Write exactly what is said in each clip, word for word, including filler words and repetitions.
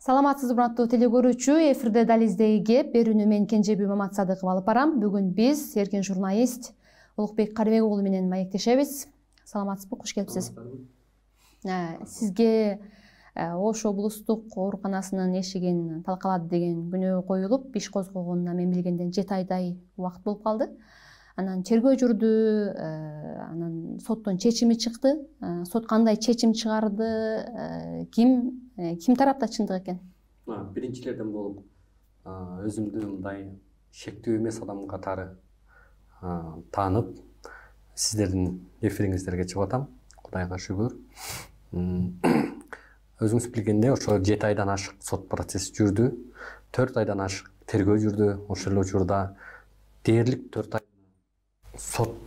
Саламатсызбы урматтуу телекөрүүчү, эфирде дализдеги кеп берүүнү мен Кенжеби Маматсадыков алып барам. Бүгүн биз эркин журналист Улукбек Карыбек уулу менен маектешебиз. Саламатсызбы, куш келипсиз. Сизге Ош облустук ооруканасынын эшигин талкалады деген күнөө коюлуп, иш козгогонуна мен билгенден жети айдай убакыт болуп калды. Анан тергөө жүрдү, анан соттун чечими чыкты. Сот кандай чечим чыгарды, ким ким тарапта чындык экен? Биринчилерден болуп, өзүмдү мындай шектүү эмес адам катары таанып, сиздердин эфириңиздерге чыгып атам. Кудайга шүгүр. Өзүңүз билгендей, ошо жети айдан ашык сот процесси жүрдү. төрт айдан ашык тергөө жүрдү. Ошол эле учурда дээрлик төрт ай сот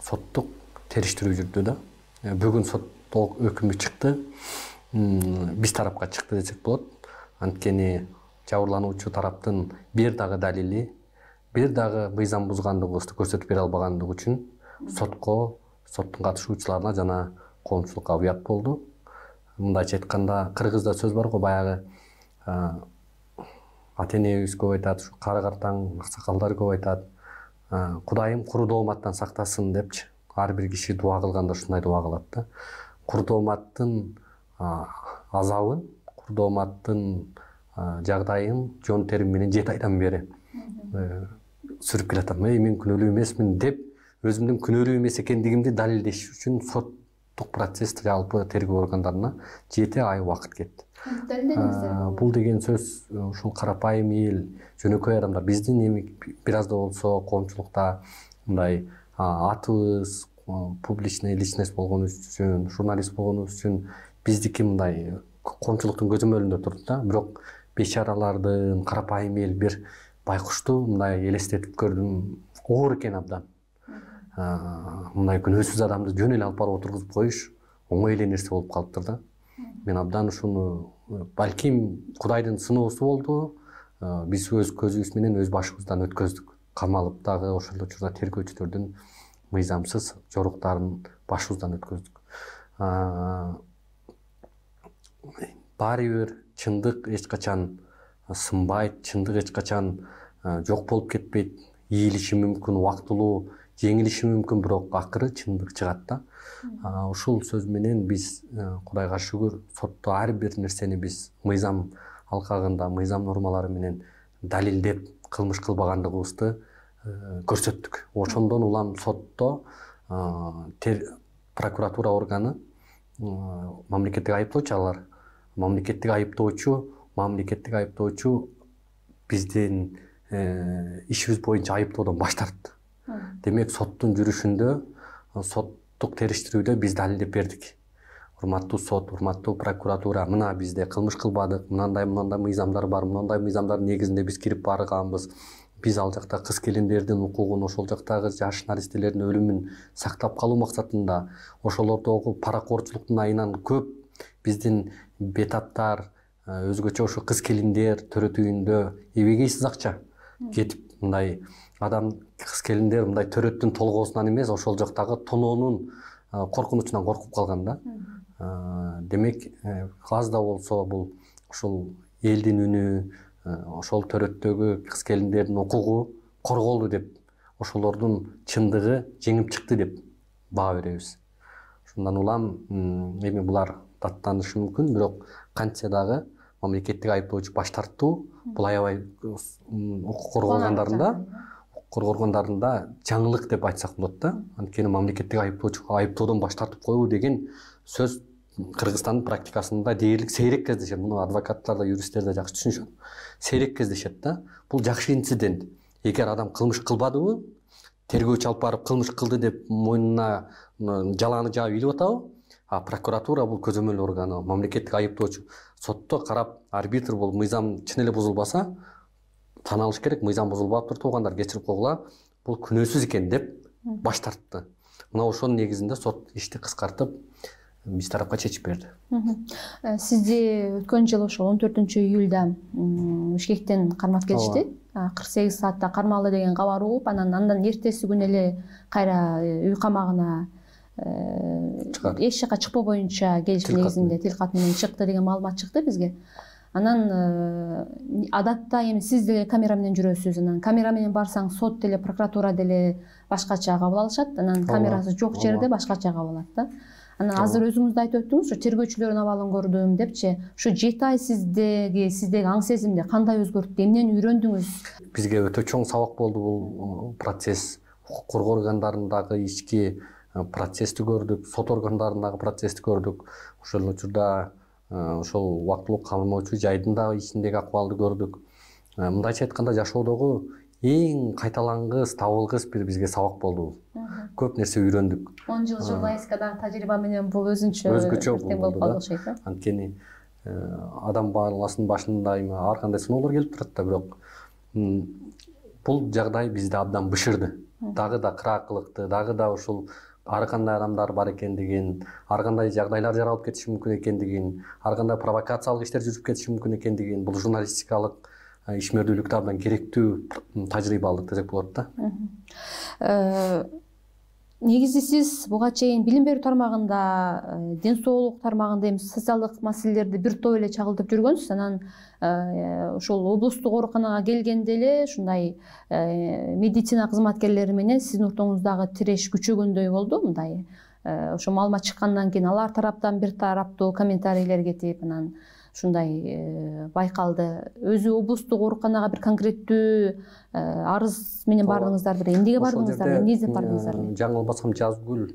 соттук териштирүү жүрдү да. Бүгүн соттук өкүмү чыкты. Биз тарапка чыкты десек болот. Анткени жабырлануучу тараптын бир дагы далили, бир дагы мыйзам бузгандыгыбызды көрсөтүп бере албагандыгы үчүн сотко, соттун катышуучуларына жана коомчулукка уят болду. Мындайча айтканда, кыргызда сөз бар го, баягы ата энебиз көп айтат, кара картаң аксакалдар көп айтат. Кудайым куру дооматтан сактасын депчи. Ар бир киши дуа кылганда ушундай дуа кылат да. Куру дооматтын азабын, куру дооматтын жагдайын жон терим менен жети айдан бери сүрүп келатам. Эй, мен күнөөлүү эмесмин деп, өзүмдүн күнөөлүү эмес экендигимди далилдеш үчүн соттук процесс жалпы тергөө органдарына жети ай убакыт кетти. Бул деген сөз ушул карапайым эл, жөнөкөй адамдар, биздин эми бир аз да болсо коомчулукта мындай атыбыз, публичный личность болгонубуз үчүн, журналист болгонубуз үчүн биздики мындай коомчулуктун көзөмөлүндө турду да. Бирок бечаралардын, карапайым эл бир байкушту мындай элестетип көрдүм. Оор экен абдан. Мындай күнөөсүз адамды жөн эле алып барып отургузуп коюш оңой эле нерсе болуп калыптыр да. Мен абдан ушуну, балким Кудайдын сыноосу болду. Биз өз көзүбүз менен өз башыбыздан өткөздүк. Камалып дагы ошол учурда тергөөчүлөрдүн мыйзамсыз жоруктарын башыбыздан өткөздүк. Баары бир чындык эч качан сынбайт, чындык эч качан жок болуп кетпейт. Ийилиши мүмкүн, убактылуу жеңилиши мүмкүн, бирок акыры чындык чыгат да. Ушул сөз менен биз, Кудайга шүгүр, сотто ар бир нерсени биз мыйзам алкагында, мыйзам нормалары менен далилдеп, кылмыш кылбагандыгыбызды көрсөттүк. Ошондон улам сотто прокуратура органы, мамлекеттик айыптоочу алар, мамлекеттик айыптоочу, мамлекеттик айыптоочу биздин ишибиз боюнча айыптоодон баш тартты. Демек, соттун жүрүшүндө, соттук териштирүүдө биз далилдеп бердик. Урматтуу сот, урматтуу прокуратура, мына бизде кылмыш кылбадык, мындай мындай мыйзамдар бар, мындай мыйзамдардын негизинде биз кирип барганбыз. Биз ал жакта кыз келиндердин укугун, ошол жактагы жаш наристелердин өлүмүн сактап калуу максатында, ошолордогу паракорчулуктун айынан көп биздин бетаптар, өзгөчө ошо кыз келиндер төрөтүүндө эбегейсиз акча кетип, мындай адам, кыз келиндер мындай төрөттүн толгоосунан эмес, ошол жактагы тоноонун коркунучунан коркуп калган да. Демек, аз да болсо бул ушул элдин үнү, ошол төрөттөгү кыз келиндердин укугу корголду деп, ошолордун чындыгы жеңип чыкты деп баа беребиз. Ошондон улам эми булар даттанышы мүмкүн, бирок кантсе дагы мамлекеттик айыптоочу баш тартуу, бул аябай укук коргоо органдарында, укук коргоо органдарында жаңылык деп айтсак болот да. Анткени мамлекеттик айыптоочу айыптоодон баш тартып коюу деген сөз Кыргызстандын практикасында дээрлик сейрек кездешет. Муну адвокаттар да, юристтер да жакшы түшүнүшөт. Сейрек кездешет да. Бул жакшы инцидент. Эгер адам кылмыш кылбадыбы, тергөөчү алып барып кылмыш кылды деп мойнуна жалааны жаап илип атабы, а прокуратура бул көзөмөл органы, мамлекеттик айыптоочу сотто карап, арбитр болуп мыйзам чын эле бузулбаса, тан алыш керек, мыйзам бузулбаптыр, туугандар кечирип койгула, бул күнөөсүз экен деп баш тартты. Мына ошонун негизинде сот ишти кыскартып, биз тарапка чечип берди. Сизди өткөн жылы ошол он төртүнчү июлда Бишкектен кармап келишти. кырк сегиз саатта кармалды деген кабар угуп, анан андан эртеси күнү эле кайра үй камагына эч жака чыкпоо боюнча келишим негизинде тил кат менен чыкты деген маалымат чыкты бизге. Анан адатта эми сиз деле камера менен жүрөсүз, анан камера менен барсаң сот деле прокуратура деле башкача кабыл алышат, анан камерасы жок жерде башкача кабыл алат да. Анан азыр өзүңүз да айтып өттүңүз, ушу тергөөчүлөрдүн абалын көрдүм депчи. Ушу жети ай сиздеги сиздеги аң сезимди кандай өзгөрттү, эмнени үйрөндүңүз? Бизге өтө чоң сабак болду бул процесс. Укук коргоо органдарындагы ички процессти көрдүк, сот органдарындагы процессти көрдүк. Ошол учурда ошол убактылуу камоочу жайдын дагы ичиндеги акыбалды көрдүк. Мындайча айтканда жашоодогу эң кайталангыс, табылгыс бир бизге сабак болду. Көп нерсе үйрөндүк. он жыл журналистикадагы тажрыйба менен бул өзүнчө өзгөчө болуп калды окшойт да. Анткени адам баласынын башында ар кандай сыноолор келип турат да, бирок бул жагдай бизди абдан бышырды. Дагы да кыраакылыкты, дагы да ушул ар кандай адамдар бар экендигин, ар кандай жагдайлар жаралып кетиши мүмкүн экендигин, ар кандай провокациялык иштер жүрүп кетиши мүмкүн экендигин, бул журналистикалык ишмердүүлүктө абдан керектүү тажрыйба алдык десек болот да. Негизи сиз буга чейин билим берүү тармагында, ден соолук тармагында эми социалдык маселелерди бир топ эле чагылтып жүргөнсүз. Анан ошол облустук ооруканага келгенде эле ушундай медицина кызматкерлери менен сиздин ортоңуздагы тиреш күчөгөндөй болду. Мындай ошо маалымат чыккандан кийин алар тараптан бир тараптуу комментарийлер кетип, анан ушундай байкалды. Өзү облустук ооруканага бир конкреттүү арыз менен бардыңыздар беле? Эмнеге бардыңыздар? Эмне бардыңыздар? Жаңылбасам Жазгүл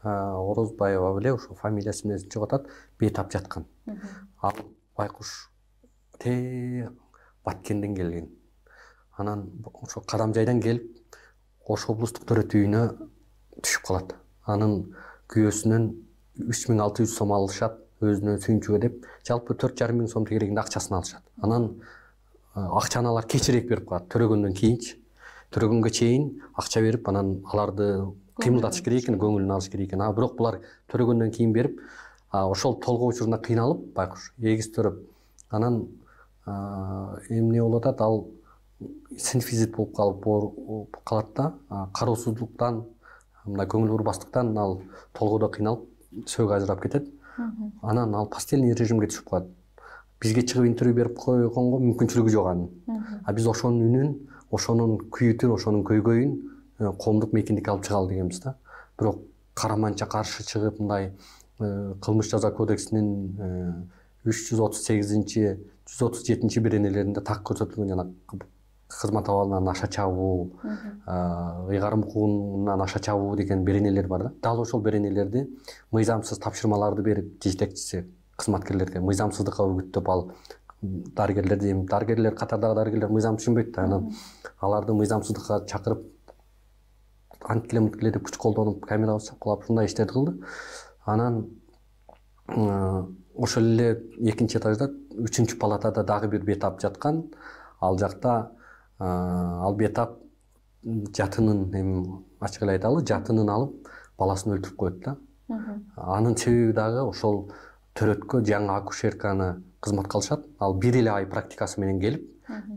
Орозбаева беле, ошо фамилиясы менен чыгып атат, бейтап жаткан. Ал байкуш те Баткенден келген. Анан ошо Кадамжайдан келип, Ош облустук төрөт үйүнө түшүп калат. Анын күйөөсүнөн үч миң алты жүз сом алышат. Өзүнө сүйүнчүгө деп жалпы төрт жарым миң сом тегерегинде акчасын алышат. Анан акчаны алар кечирээк берип коет, төрөгөндөн кийинчи. Төрөгөнгө чейин акча берип, анан аларды кыймылдатыш керек экен, көңүлүн алыш керек экен. А бирок булар төрөгөндөн кийин берип, ошол толгоо учуруна кыйналып, байкуш эгиз төрөп, анан эмне болуп атат, ал синфизит болуп калып калат да, кароосуздуктан, мындай көңүл бурбастыктан ал толгоодо кыйналып, сөөгү ажырап кетет. Анан ал постельный режимге түшүп калат. Бизге чыгып интервью берип койгонго мүмкүнчүлүгү жок анын. А биз ошонун үнүн, ошонун күйүтүн, ошонун көйгөйүн коомдук мейкиндикке алып чыгалы дегенбиз да. Бирок караманча каршы чыгып, мындай кылмыш жаза кодексинин үч жүз отуз сегизинчи, жүз отуз жетинчи беренелеринде так көрсөтүлгөн жана кызмат абалынан аша чабуу, ыйгарым укугунан аша чабуу деген беренелер бар да. Дал ошол беренелерди мыйзамсыз тапшырмаларды берип жетекчиси кызматкерлерге мыйзамсыздыкка үгүттөп, ал дарыгерлерди, эми дарыгерлер катардагы дарыгерлер мыйзам түшүнбөйт да, анан аларды мыйзамсыздыкка чакырып, анткиле мынткиле деп күч колдонуп, камерага чапкылап ушундай иштерди кылды. Анан ошол эле экинчи этажда, үчүнчү палатада дагы бир бейтап жаткан. Ал жакта ал бейтап жатынын, эми ачык эле айталы, жатынын алып баласын өлтүрүп коет да. Анын себеби дагы ошол төрөткө жаңы акушерканы кызматка алышат. Ал бир эле ай практикасы менен келип,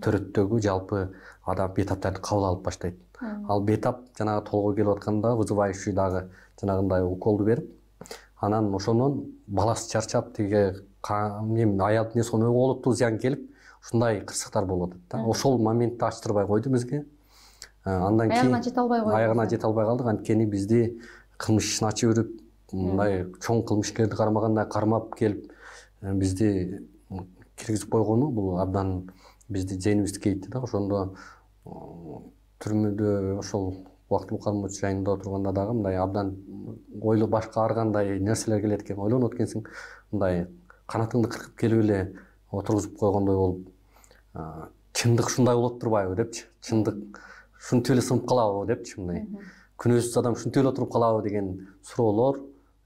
төрөттөгү жалпы адам бейтаптарды кабыл алып баштайт. Ал бейтап жанагы толгой келип атканда вызывающий дагы жанагындай уколду берип, анан ошондон баласы чарчап, тиги эми аялдын эмне сонун оолуттуу зыян келип, ушундай кырсыктар болуп атат да. Ошол моментти ачтырбай койду бизге. Андан кийин аягына жете албай койдук. Аягына жете албай калдык. Анткени бизди кылмыш ишин ачып өрүп, мындай чоң кылмышкерди кармагандай кармап келип, бизди киргизип койгону бул абдан бизди зээнибизди кейитти да. Ошондо түрмөдө ошол убактылуу кармоочу жайында отурганда дагы мындай абдан ойло башка ар кандай нерселер келет экен, ойлонот экенсиң, мындай канатыңды кыркып келип эле отургузуп койгондой болуп, чындык ушундай болот турбайбы депчи, чындык ушинтип эле сынып калабы депчи, мындай күнөөсүз адам ушинтип эле отуруп калабы деген суроолор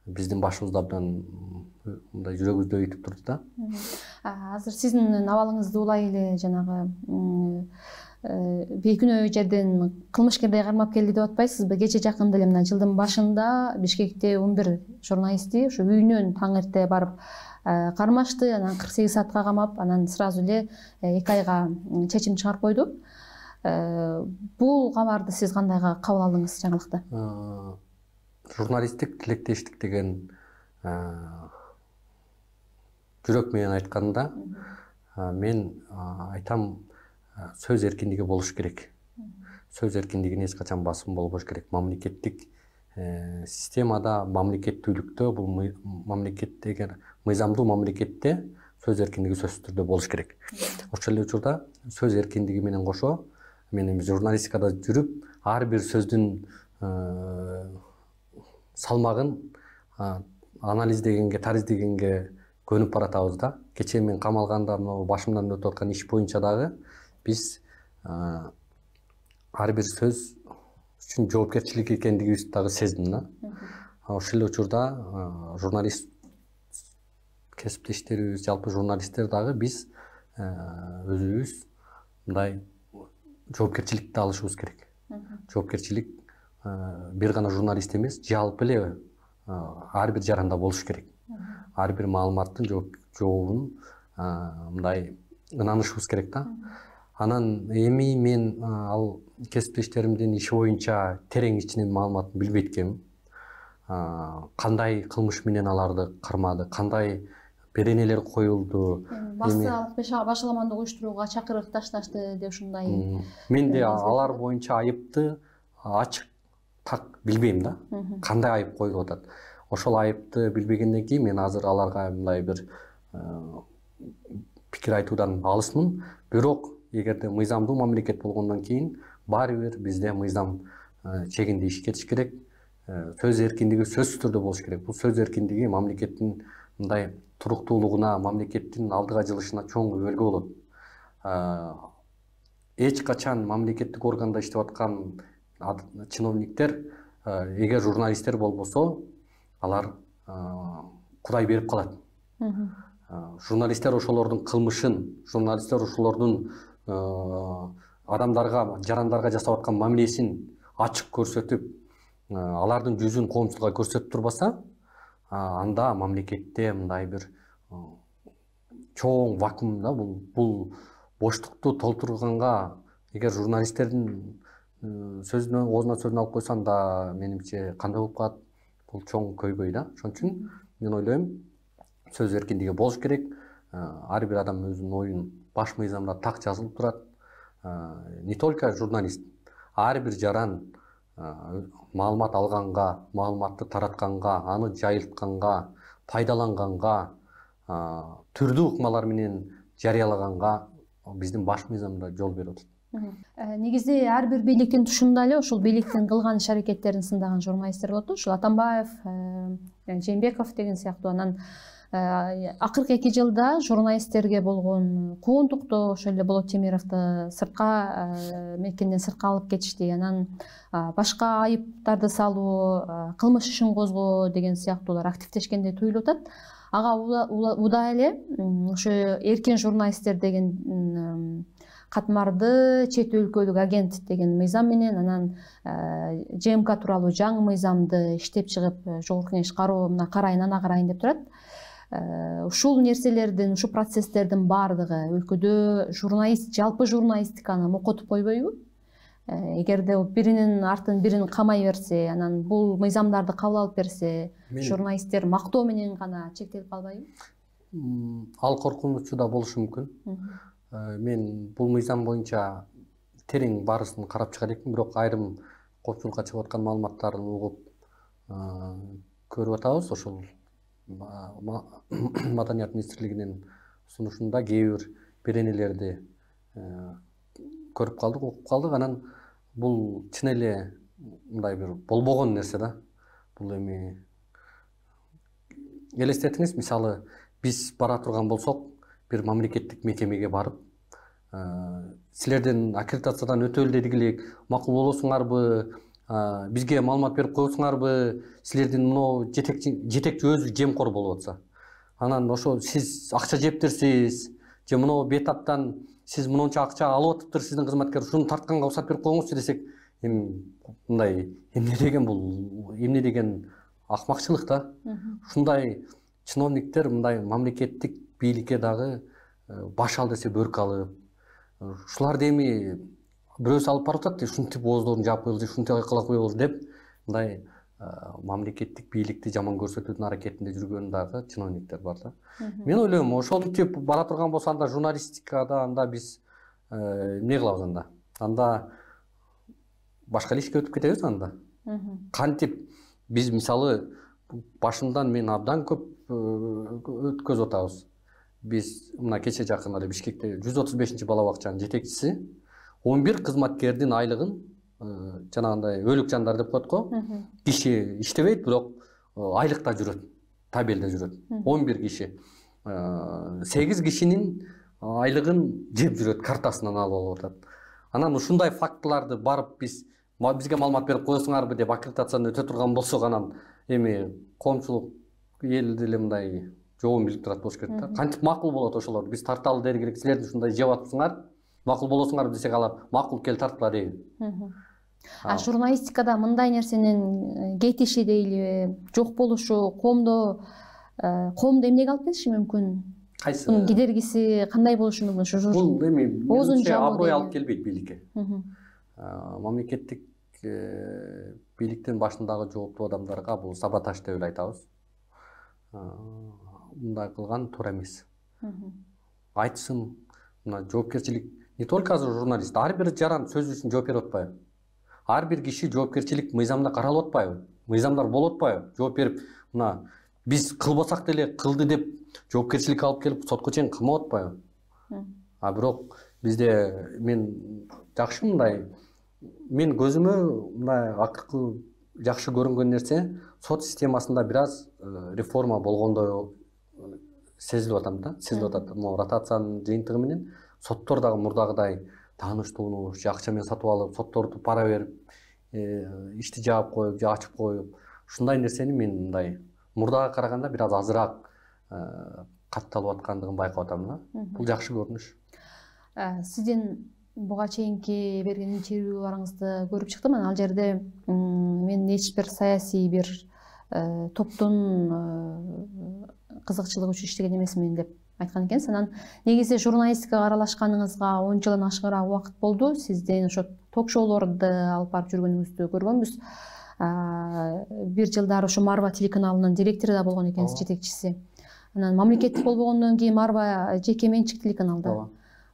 биздин башыбызда абдан мындай жүрөгүбүздү өйтүп турду да. Азыр сиздин абалыңызды улай эле жанагы бейкүнөө жерден кылмышкердей кармап келди деп атпайсызбы? Кече жакында эле мына жылдын башында Бишкекте он бир журналистти ушу үйүнөн таң эрте барып кармашты, анан кырк сегиз саатка камап, анан сразу эле эки айга чечим чыгарып койду. Бул кабарды сиз кандай кабыл алдыңыз жаңылыкты? Журналисттик тилектештик деген жүрөк менен айтканда мен айтам, сөз эркиндиги болуш керек. Сөз эркиндигине эч качан басым болбош керек. Мамлекеттик системада, мамлекеттүүлүктө, бул мамлекет эгер мыйзамдуу мамлекетте сөз эркиндиги сөзсүз түрдө болуш керек. Ошол эле учурда сөз эркиндиги менен кошо мен эми журналистикада жүрүп, ар бир сөздүн салмагын анализдегенге, тариздегенге көнүп баратабыз да. Кечээ мен камалганда мына башымдан өтүп аткан иш боюнча дагы биз ар бир сөз үчүн жоопкерчилик экендигибизди дагы сездим да. Ошол эле учурда журналист кесиптештерибиз, жалпы журналисттер дагы биз өзүбүз мындай жоопкерчиликти алышыбыз керек. Жоопкерчилик бир гана журналист эмес, жалпы эле ар бир жаранда болуш керек. Ар бир маалыматтын жообун мындай ынанышыбыз керек да. Анан эми мен ал кесиптештеримдин иши боюнча терең ичинен маалыматын билбейт экенмин. Кандай кылмыш менен аларды кармады, кандай беренелер коюлду. Басалык башаламандык уюштурууга чакырык ташташты деп ушундай. Мен де алар боюнча айыпты ачык так билбейм да. Кандай айып коюлуп атат. Ошол айыпты билбегенден кийин мен азыр аларга мындай бир пикир айтуудан алысмын. Бирок эгерде мыйзамдуу мамлекет болгондон кийин баары бир бизде мыйзам чегинде иш кетиш керек. Сөз эркиндиги сөзсүз түрдө болуш керек. Бул сөз эркиндиги мамлекеттин мындай туруктуулугуна, мамлекеттин алдыга жылышына чоң өбөлгө болот. Эч качан мамлекеттик органда иштеп аткан чиновниктер эгер журналисттер болбосо, алар кудай берип калат. Журналисттер ошолордун кылмышын, журналисттер ошолордун адамдарга, жарандарга жасап аткан мамилесин ачык көрсөтүп, алардын жүзүн коомчулукка көрсөтүп турбаса, анда мамлекетте мындай бир чоң вакуум да, бул бул боштукту толтурганга эгер журналисттердин сөзүнө, оозуна сөзүн алып койсо, анда менимче кандай болуп калат? Бул чоң көйгөй да. Ошон үчүн мен ойлойм, сөз эркиндиги болуш керек. Ар бир адам өзүнүн оюн баш мыйзамда так жазылып турат. Не только журналист, ар бир жаран маалымат алганга, маалыматты таратканга, аны жайылтканга, пайдаланганга, түрдүү ыкмалар менен жарыялаганга биздин баш мыйзамда жол берип атат. Негизде ар бир бийликтин тушунда эле ошол бийликтин кылган иш аракеттерин сындаган журналисттер болот. Ушул Атамбаев, Жээнбеков деген сыяктуу. Анан акыркы эки жылда журналисттерге болгон куугунтукту ошол эле Болот Темировду сыртка, мекенден сыртка алып кетишти. Анан башка айыптарды салуу, кылмыш ишин козгоо деген сыяктуулар активдешкендей туюлуп атат. Ага уда эле ошо эркин журналисттер деген катмарды чет өлкөлүк агент деген мыйзам менен, анан ЖМК тууралуу жаңы мыйзамды иштеп чыгып, Жогорку Кеңеш кароо мына карайын, ана карайын деп турат. Ушул нерселердин, ушул процесстердин баардыгы өлкөдө журналист, жалпы журналистиканы мокотуп койбойбу? Эгерде биринин артын бирин камай берсе, анан бул мыйзамдарды кабыл алып берсе, журналисттер мактоо менен гана чектелип калбайбы? Ал коркунучу да болушу мүмкүн. Мен бул мыйзам боюнча терең баарысын карап чыгар экенмин, бирок айрым коопчулукка чыгып аткан маалыматтарын угуп көрүп атабыз. Ошол Маданият министрлигинин сунушунда кээ бир беренелерди көрүп калдык, окуп калдык. Анан бул чын эле мындай бир болбогон нерсе да. Бул эми элестетиңиз, мисалы биз бара турган болсок, бир мамлекеттик мекемеге барып, силерден аккредитациядан өтөлү дедик элек, макул болосуңарбы, бизге маалымат берип коесуңарбы, силердин мынау жетекчи өзү жемкор болуп атса. Анан ошо сиз акча жептирсиз, же мынау бетаптан сиз мынча акча алып атыптыр сиздин кызматкер, ушуну тартканга уруксат берип коюңузчу десек, эми мындай эмне деген бул, эмне деген акмакчылык да. Ушундай чиновниктер мындай мамлекеттик бийликке дагы баш ал десе бөрк алып, ушуларды эми бирөөсү алып барып атат, ушинтип ооздорун жаап коелу, ушинтип кыла коелу деп мындай мамлекеттик бийликти жаман көрсөтүүнүн аракетинде жүргөн дагы чиновниктер бар да. Мен ойлойм, ошентип бара турган болсо анда журналистикада анда биз эмне кылабыз анда? Анда башка ишке өтүп кетебиз анда. Кантип биз мисалы башындан мен абдан көп өткөзүп атабыз. Биз мына кече жакын эле Бишкекте жүз отуз бешинчи бала бакчанын жетекчиси он бир кызматкердин айлыгын жанагындай өлүк жандар деп коет го. Киши иштебейт, бирок айлыкта жүрөт, табелде жүрөт. он бир киши. сегиз кишинин айлыгын жеп жүрөт, картасынан алып алып атат. Анан ушундай фактыларды барып биз бизге маалымат берип коесуңарбы деп аккредитацияны өтө турган болсок, анан эми коомчулук эл деле мындай жообун билип турат болуш керек да. Кантип макул болот ошолор? Биз тарталы дери керек, силер ушундай жеп атпсыңар, макул болосуңар десек, алар макул кел тартыла дейби. А журналистикада мындай нерсенин кетиши дейли, жок болушу коомдо коомду эмнеге алып келиши мүмкүн? Кайсы? Мунун кедергиси кандай болушу мүмкүн? Бул эми аброй алып келбейт бийликке. Мамлекеттик бийликтин башындагы жооптуу адамдарга бул саботаж деп эле айтабыз. Мындай кылган туура эмес. Айтсын, мына жоопкерчилик не только азыр журналист, ар бир жаран сөзү үчүн жооп берип атпайбы? Ар бир киши жоопкерчилик мыйзамда каралып атпайбы? Мыйзамдар болуп атпайбы? Жооп берип, мына биз кылбасак деле кылды деп жоопкерчилик алып келип сотко чейин кылмап атпайбы? А бирок бизде мен жакшы мындай мен көзүмө мындай акыркы жакшы көрүнгөн нерсе сот системасында бир аз реформа болгондой сезилип атам да, сезилип атат. Могу ротациянын жыйынтыгы менен соттор дагы мурдагыдай тааныштуулук, акча менен сатып алып, сотторду пара берип, ишти жаап коюп, же ачып коюп, ушундай нерсени мен мындай мурдага караганда бир аз азыраак катталып аткандыгын байкап атам да. Бул жакшы көрүнүш. Сиздин буга чейинки берген интервьюларыңызды көрүп чыктым. Ал жерде мен эч бир саясий бир топтун кызыкчылыгы үчүн иштеген эмесмин деп айткан экенсиз. Анан негизи журналистикага аралашканыңызга он жылдан ашыгыраак убакыт болду. Сиздин ошо ток-шоулорду алып барып жүргөнүңүздү көргөнбүз. Бир жылдары ошо Марва телеканалынын директору да болгон экенсиз, жетекчиси. Анан мамлекеттик болбогондон кийин Марва жеке менчик телеканал да.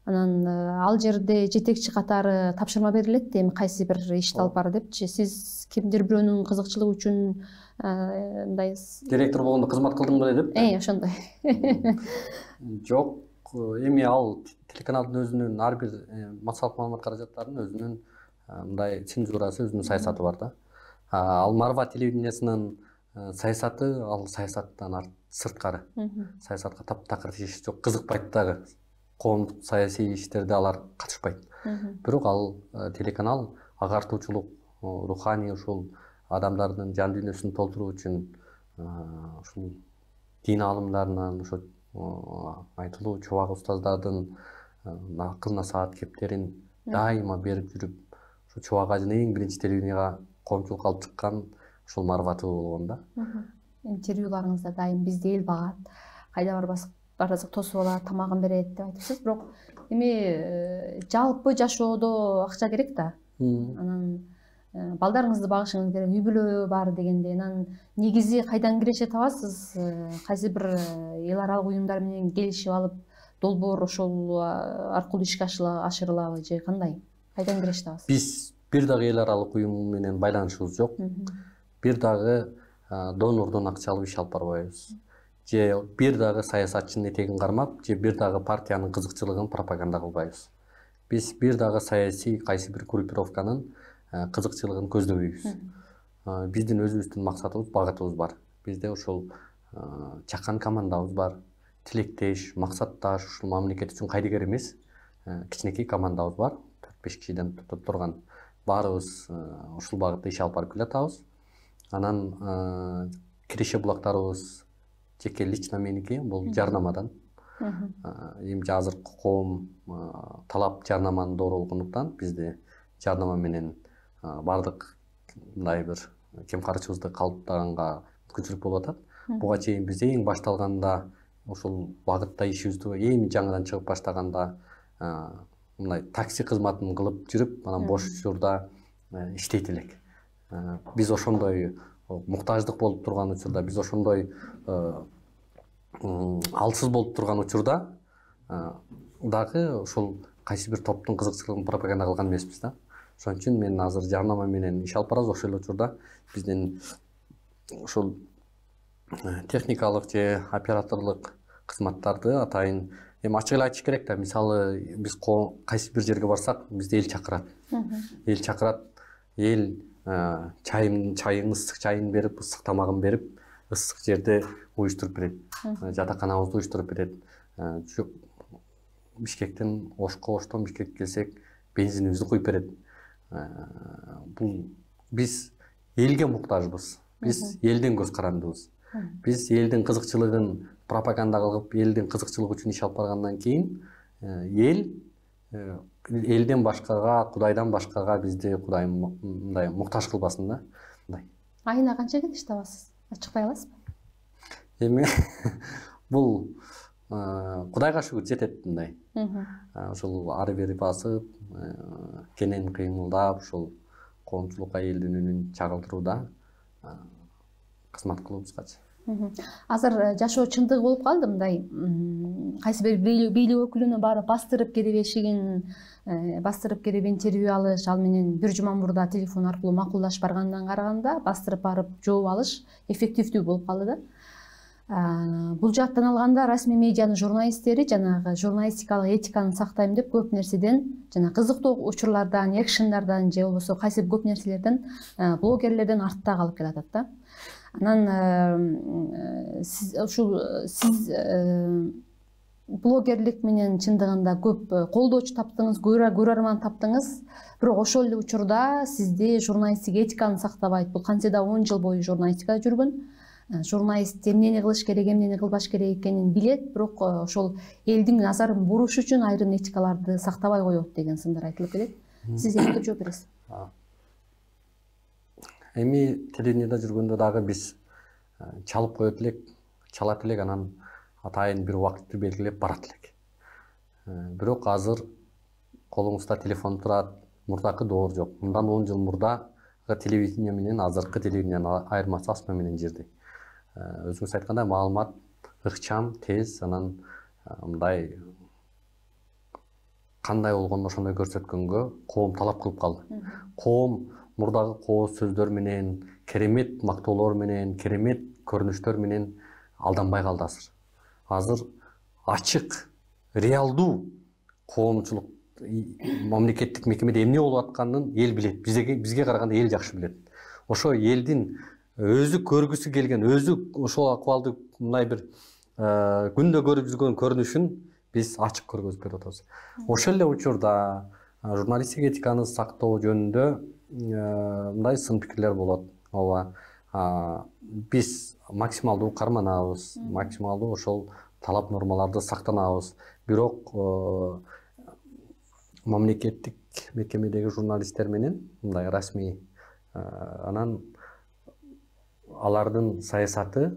Анан ал жерде жетекчи катары тапшырма берилет, эми кайсы бир ишти алып бар депчи. Сиз кимдир бирөөнүн кызыкчылыгы үчүн мындай директор болгондо кызмат кылдым беле деп? Э, ошондой. Жок, эми ал телеканалдын өзүнүн ар бир массалык маалымат каражаттарынын өзүнүн мындай цензурасы, өзүнүн саясаты бар да. Ал Марва телевидениясынын саясаты, ал саясаттан сырткары. Саясатка таптакыр иш жок, кызыкпайт дагы. Коомдук саясий иштерде алар катышпайт. Бирок ал телеканал агартуучулук, руханий ушул адамдардын жан дүйнөсүн толтуруу үчүн ушул дин аалымдарынан, ошо айтылуу чубак устаздардын акыл насаат кептерин дайыма берип жүрүп, ошо чубак ажын эң биринчи телевиденияга коомчулукка алып чыккан ушул Марва болгон да. Интервьюларыңызда дайым бизди эл багат, кайда барбасак барасак тосуп алат, тамагын берет деп айтыпсыз. Бирок эми жалпы жашоодо акча керек да. Анан балдарыңызды багышыңыз керек, үй бүлө бар дегенде, анан негизи кайдан киреше табасыз? Кайсы бир эл аралык уюмдар менен келишип алып, долбоор ошол аркылуу ишке ашырылабы же кандай? Кайдан киреше табасыз? Биз бир дагы эл аралык уюм менен байланышыбыз жок. Бир дагы донордон акча алып иш алып барбайбыз. Же бир дагы саясатчынын этегин кармап, же бир дагы партиянын кызыкчылыгын пропаганда кылбайбыз. Биз бир дагы саясий кайсы бир группировканын кызыкчылыгын көздөбөйбүз. Биздин өзүбүздүн максатыбыз, багытыбыз бар. Бизде ошол чакан командабыз бар. Тилектеш, максатташ, ушул мамлекет үчүн кайдыгер эмес кичинекей командабыз бар. төрт беш кишиден турган. Баарыбыз ушул багытта иш алып барып келатабыз. Анан киреше булактарыбыз жеке лично меники, бул жарнамадан. Эми азыркы коом талап жарнаманын доорулугундуктан бизде жарнама менен бардык мындай бир кемкарчыбызды калыптаганга мүмкүнчүлүк болуп атат. Буга чейин биз эң башталганда ушул багытта ишибизди эми жаңыдан чыгып баштаганда мындай такси кызматын кылып жүрүп, анан бош учурда иштейт элек. Биз ошондой муктаждык болуп турган учурда, биз ошондой алсыз болуп турган учурда дагы ошол кайсы бир топтун кызыкчылыгын пропаганда кылган эмеспиз да. Ошон үчүн мен азыр жарнама менен иш алып барабыз. Ошол эле учурда биздин ушул техникалык же операторлук кызматтарды атайын эми ачык эле айтыш керек да. Мисалы биз кайсы бир жерге барсак, бизди эл чакырат. Эл чакырат, эл чайын чайын ысык чайын берип, ысык тамагын берип, ысык жерде уюштуруп берет. Жатаканабызды уюштуруп берет. Бишкектен Ошко, Оштон Бишкекке келсек, бензинибизди куюп берет. Бул биз элге муктажбыз. Биз элден көз карандыбыз. Биз элдин кызыкчылыгын пропаганда кылып, элдин кызыкчылыгы үчүн иш алып баргандан кийин эл элден башкага, Кудайдан башкага бизди Кудай мындай муктаж кылбасын да. Мындай. Айына канча кетиш табасыз? Ачыктай аласызбы? Эми бул Кудайга шүгүр жетет мындай. Ошол ары бери басып, кенен кыймылдап, ошол коомчулукка элдин үнүн чагылдырууда кызмат кылуубузгачы. Азыр жашоо чындыгы болуп калды мындай. Кайсы бир бийлик өкүлүнө барып бастырып керебешигин, бастырып кереп интервью алыш, ал менен бир жума мурда телефон аркылуу макулдашып баргандан караганда бастырып барып жооп алыш эффективдүү болуп калды да. Бул жааттан алганда расмий медианын журналисттери жанагы журналистикалык этиканы сактайм деп көп нерседен, жана кызыктуу учурлардан, экшендардан же болбосо кайсы көп нерселерден, блогерлерден артта калып келатат да. Анан сиз ушул сиз блогерлик менен чындыгында көп колдоочу таптыңыз, көрөрман таптыңыз, бирок ошол эле учурда сизди журналисттик этиканы сактабайт. Бул кантсе да он жыл бою журналистикада жүргөн. Журналист эмнени кылыш керек, эмнени кылбаш керек экенин билет, бирок ошол элдин назарын буруш үчүн айрым этикаларды сактабай коет деген сындар айтылып келет. Сиз эмне жооп бересиз? Эми телевидениеда жүргөндө дагы биз чалып коет элек, чалат элек, анан атайын бир убакытты белгилеп барат элек. Бирок азыр колуңузда телефон турат, мурдакы доор жок. Мындан он жыл мурда телевидение менен азыркы телевидениянын айырмасы асма менен жердей. Өзүңүз айткандай маалымат ыкчам, тез, анан мындай кандай болгону ошондой көрсөткөнгө коом талап кылып калды. Коом мурдагы кооз сөздөр менен, керемет мактоолор менен, керемет көрүнүштөр менен алданбай калды азыр. Азыр ачык, реалдуу коомчулук мамлекеттик мекемеде эмне болуп атканын эл билет. Бизге бизге караганда эл жакшы билет. Ошо элдин өзү көргүсү келген, өзү ошол акыбалды мындай бир күндө көрүп жүргөн көрүнүшүн биз ачык көргөзүп берип атабыз. Ошол эле учурда журналистик этиканы сактоо жөнүндө мындай сын пикирлер болот. Ооба, биз максималдуу карманабыз, максималдуу ошол талап нормаларды сактанабыз. Бирок мамлекеттик мекемедеги журналисттер менен мындай расмий анан алардын саясаты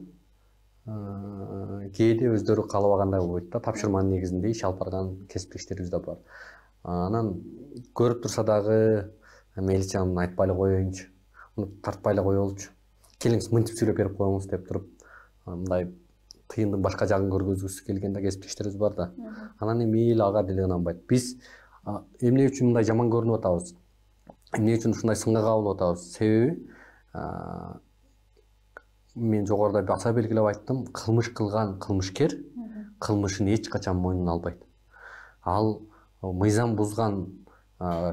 кээде өздөрү каалабагандай болбойт да. Тапшырманын негизинде иш алып барган кесиптештерибиз да бар. Анан көрүп турса дагы мейличи айтпай эле коеюнчу, тартпай эле коелучу, келиңиз мынтип сүйлөп берип коюңуз деп туруп мындай тыйындын башка жагын көргөзгүсү келген да кесиптештерибиз бар да. Анан эми эл ага деле ынанбайт. Биз эмне үчүн мындай жаман көрүнүп атабыз? Эмне үчүн ушундай сынга кабылып атабыз? Себеби мен жогоруда баса белгилеп айттым, кылмыш кылган кылмышкер кылмышын эч качан мойнуна албайт. Ал мыйзам бузган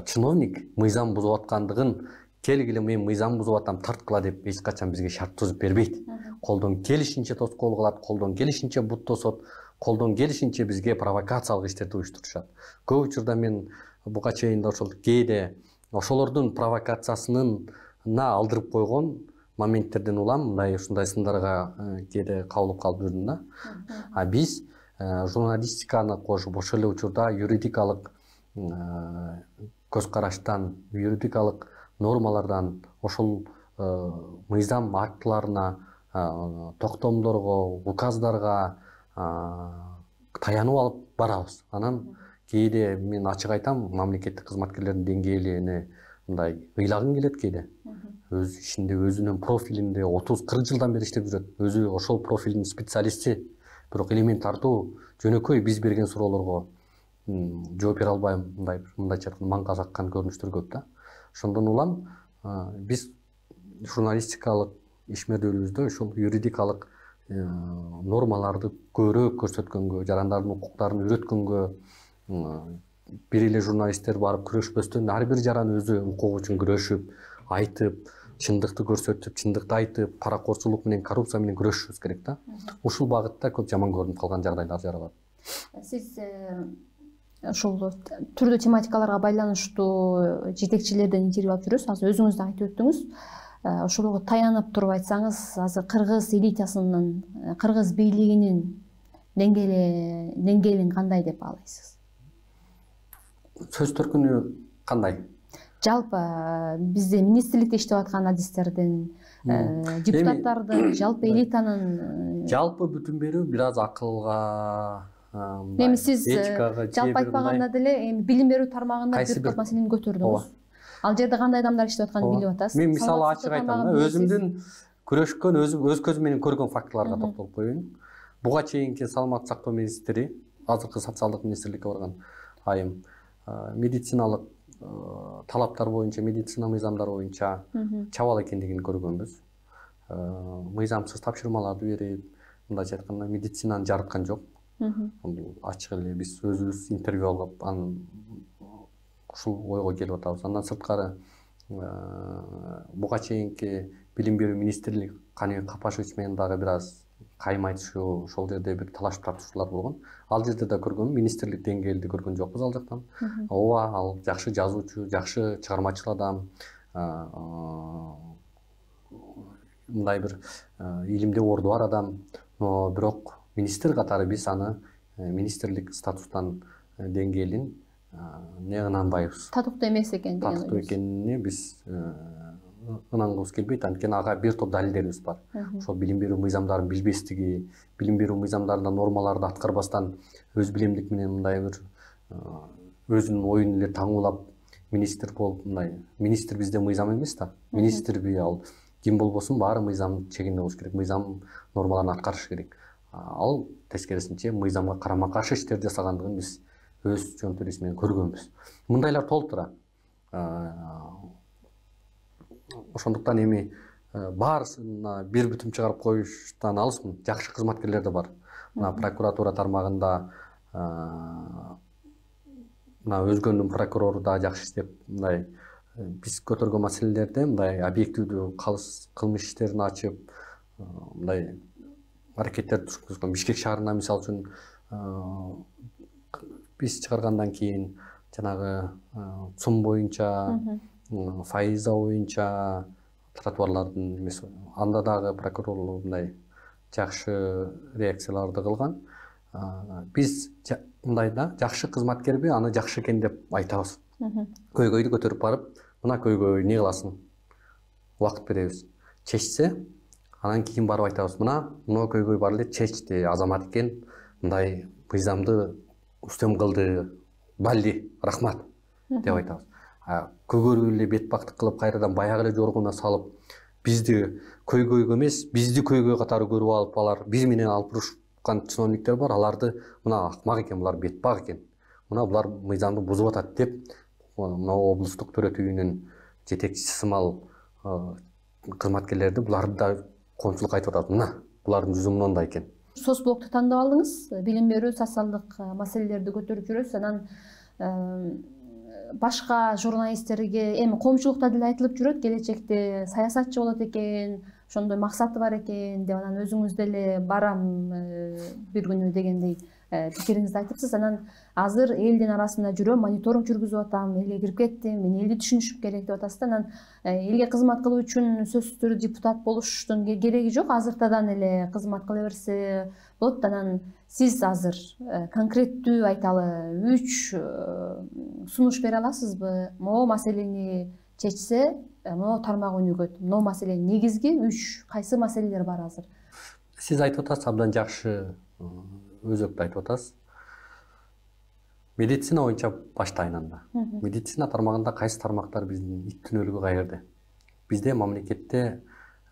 чиновник мыйзам бузуп аткандыгын келгиле мен мыйзам бузуп атам, тарткыла деп эч качан бизге шарт түзүп бербейт. Колдон келишинче тоскоол кылат, колдон келишинче бут тосот, колдон келишинче бизге провокациялык иштерди уюштурушат. Көп учурда мен буга чейин ошол кээде ошолордун провокациясына алдырып койгон моменттерден улам мындай ушундай сындарга кээде кабылып калып жүрдүм да. А биз журналистиканы кошуп ошол эле учурда юридикалык көз караштан, юридикалык нормалардан, ошол мыйзам актыларына, токтомдорго, указдарга таянып алып барабыз. Анан кээде мен ачык айтам, мамлекеттик кызматкерлердин деңгээли мындай ыйлагың келет кээде. Өз ишинде, өзүнүн профилинде отуз кырк жылдан бери иштеп жүрөт. Өзү ошол профилдин специалисти. Бирок элементардуу, жөнөкөй биз берген суроолорго жооп бере албайм, мындай мындайча айтканда маңга жаккан көрүнүштөр көп да. Ошондон улам биз журналистикалык ишмердүүлүгүбүздө ушул юридикалык нормаларды көбүрөөк көрсөткөнгө, жарандардын укуктарын үйрөткөнгө, бир эле журналисттер барып күрөшпөстөн ар бир жаран өзү укугу үчүн күрөшүп, айтып, чындыкты көрсөтүп, чындыкты айтып, паракорчулук менен, коррупция менен күрөшүшүбүз керек да. Ушул багытта көп жаман көрүнүп калган жагдайлар жаралат. Сиз ушул түрдүү тематикаларга байланыштуу жетекчилерден интервью алып жүрөсүз. Азыр өзүңүз да айтып өттүңүз. Ошолго таянып туруп айтсаңыз, азыр кыргыз элитасынын, кыргыз бийлигинин деңгээли деңгээлин кандай деп баалайсыз? Сөз төркүнү кандай? Жалпы бизде министрликте иштеп аткан адистердин, депутаттардын, жалпы элитанын жалпы бүтүн берүү бир аз акылга, эми сиз жалпы айтпаганда деле эми билим берүү тармагында бир топ маселени көтөрдүңүз. Ал жерде кандай адамдар иштеп атканын билип атасыз. Мен мисалы ачык айтам да, өзүмдүн күрөшкөн, өз көзүм менен көргөн фактыларга токтолуп коеюн. Буга чейинки саламаттык сактоо министри, азыркы социалдык министрликке барган айым, медициналык талаптар боюнча, медицина мыйзамдары боюнча чабал экендигин көргөнбүз. Мыйзамсыз тапшырмаларды берип, мындайча айтканда медицинаны жарыткан жок. Ачык эле биз өзүбүз интервью алып, анын ушул ойго келип атабыз. Андан сырткары буга чейинки билим берүү министрлиги Каныбек Капашевич менен дагы бир аз кайым айтышуу, ошол жерде бир талашып тартышуулар болгон. Ал жерде да көргөнмүн, министрлик деңгээлде көргөн жокпуз ал жактан. Ооба, ал жакшы жазуучу, жакшы чыгармачыл адам, мындай бир илимде орду бар адам, но бирок министр катары биз аны министрлик статустан деңгээлин эмне ынанбайбыз. Татыктуу эмес экен деген. Татыктуу экенине биз ынангыбыз келбейт, анткени ага бир топ далилдерибиз бар. Ошол билим берүү мыйзамдарын билбестиги, билим берүү мыйзамдарында нормаларды аткарбастан өз билемдик менен мындай бир өзүнүн оюн эле таңуулап министр болуп, мындай министр бизде мыйзам эмес да. Министрби ал ким болбосун баары мыйзам чегинде болуш керек, мыйзам нормаларын аткарыш керек. Ал тескерисинче мыйзамга карама каршы иштер жасагандыгын биз өз жөнтөрүбүз менен көргөнбүз. Мындайлар толуп тура. Ошондуктан эми баарысына бир бүтүм чыгарып коюштан алысмын. Жакшы кызматкерлер да бар. Мына прокуратура тармагында мына өзгөнүн прокурору да жакшы иштеп, мындай биз көтөргөн маселелерде мындай объективдүү кылмыш иштерин ачып, мындай аракеттер жүргүзгөн. Бишкек шаарына мисалы үчүн биз чыгаргандан кийин жанагы ЦУМ боюнча, Файза боюнча тротуарлардын эмеси, анда дагы прокурорлор мындай жакшы реакцияларды кылган. Биз мындай да жакшы кызматкерби, аны жакшы экен деп айтабыз. Көйгөйдү көтөрүп барып, мына көйгөй эмне кыласың? Убакыт беребиз. Чечсе, анан кийин барып айтабыз, мына мына көйгөй бар эле, чечти, азамат экен, мындай мыйзамды үстөм кылды, балли, рахмат деп айтабыз. Көгөрүп эле бет бактык кылып, кайрадан баягы эле жоргоуна салып, бизди көйгөйгө эмес, бизди көйгөй катары көрүп алып, алар биз менен алып урушкан чиновниктер бар, аларды мына акмак экен, булар бетбак экен, мына булар мыйзамды бузуп атат деп, мына облустук төрөтүүнүн жетекчиси сымал кызматкерлерди буларды да коомчулукка айтып атат, мына булардын жүзү мындай экен. Соцблокту тандап алдыңыз, билим берүү, социалдык маселелерди көтөрүп жүрөсүз, анан башка журналисттерге эми коомчулукта деле айтылып жүрөт, келечекте саясатчы болот экен, ошондой максаты бар экен деп, анан өзүңүз деле барам бир күнү дегендей пикириңизди айтыпсыз. Анан азыр элдин арасында жүрөм, мониторинг жүргүзүп атам, элге кирип кеттим, мен элди түшүнүшүм керек деп атасыз. Анан элге кызмат кылуу үчүн сөзсүз түрдө депутат болуштун кереги жок, азыртадан эле кызмат кыла берсе болот. Анан сиз азыр конкреттүү айталы үч сунуш бере аласызбы? Могу маселени чечсе, могу тармак өнүгөт, могу маселенин негизги үч кайсы маселелер бар азыр? Сиз айтып атасыз, абдан жакшы өзөктү айтып атасыз. Медицина боюнча баштайын анда. Медицина тармагында кайсы тармактар биздин иктүнөлүгү каерде? Бизде мамлекетте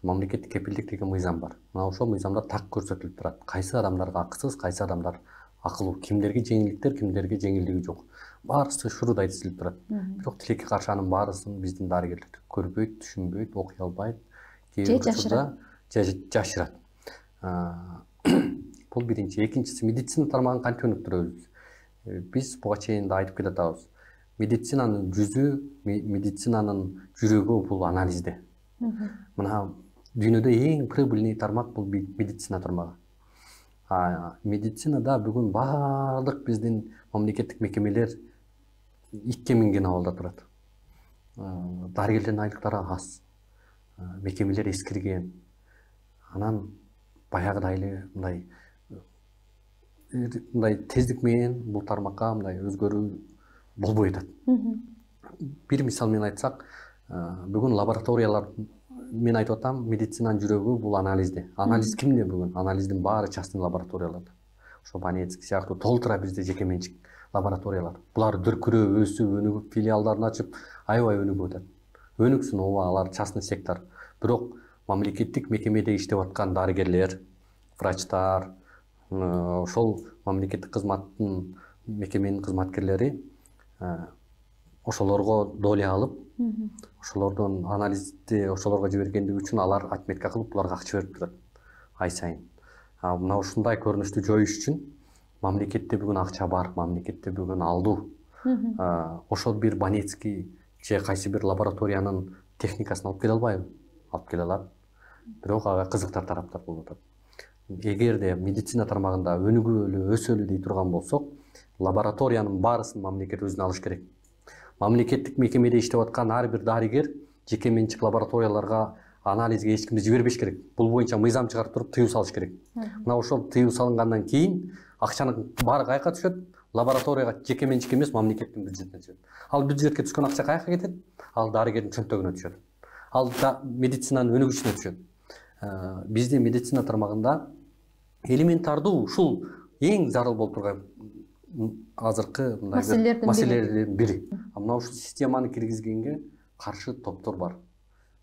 мамлекеттик кепилдик деген мыйзам бар. Мына ошол мыйзамда так көрсөтүлүп турат. Кайсы адамдарга акысыз, кайсы адамдар акылуу, кимдерге жеңилдиктер, кимдерге жеңилдиги жок. Баарысы шуруда айтылып турат. Бирок тилекке каршы анын баарысын биздин дарыгерлер көрбөйт, түшүнбөйт, окуй албайт. Же жашырат. Жашырат. Бул биринчи. Экинчиси, медицина тармагын кантип өнүктүрөбүз? Биз буга чейин да айтып келатабыз. Медицинанын жүзү, медицинанын жүрөгү бул анализде. Мына дүйнөдө эң прибыльный тармак бул медицина тармагы. Медицинада бүгүн баардык биздин мамлекеттик мекемелер икке минген абалда турат. Дарыгерлердин айлыктары аз. Мекемелер эскирген. Анан баягыдай эле мындай мындай тездик менен бул тармакка мындай өзгөрүү болбой атат. Бир мисал менен айтсак, бүгүн лабораториялар, мен айтып атам, медицинанын жүрөгү бул анализде. Анализ кимде бүгүн? Анализдин баары частный лабораторияларда. Ошо Банецкий сыяктуу толтура бизде жеке менчик лабораториялар. Булар дүркүрөп, өсүп, өнүгүп, филиалдарын ачып, аябай өнүгүп атат. Өнүксүн, ооба, алар частный сектор. Бирок мамлекеттик мекемеде иштеп аткан дарыгерлер, врачтар, ошол мамлекеттик кызматтын мекеменин кызматкерлери ошолорго доля алып, ошолордун анализди ошолорго жибергендиги үчүн алар отметка кылып, буларга акча берип турат ай сайын. Мына ушундай көрүнүштү жоюш үчүн мамлекетте бүгүн акча бар, мамлекетте бүгүн алдуу. Ошол бир Банецкий же кайсы бир лабораториянын техникасын алып келе албайбы? Алып келе алат. Бирок ага кызыктар тараптар болуп атат. Эгерде медицина тармагында өнүгөлү, өсөлү дей турган болсок, лабораториянын баарысын мамлекет өзүнө алыш керек. Мамлекеттик мекемеде иштеп аткан ар бир дарыгер жеке менчик лабораторияларга анализге эч кимди жибербеш керек. Бул боюнча мыйзам чыгарып туруп тыюу салыш керек. Мына ошол тыюу салынгандан кийин акчанын баары каяка түшөт? Лабораторияга жеке менчик эмес, мамлекеттин бюджетине түшөт. Ал бюджетке түшкөн акча каяка кетет? Ал дарыгердин чөнтөгүнө түшөт. Ал медицинанын өнүгүшүнө түшөт. Бизде медицина тармагында элементардуу ушул эң зарыл болуп турган азыркы мындай маселелердин бири. Мына ушул системаны киргизгенге каршы топтор бар.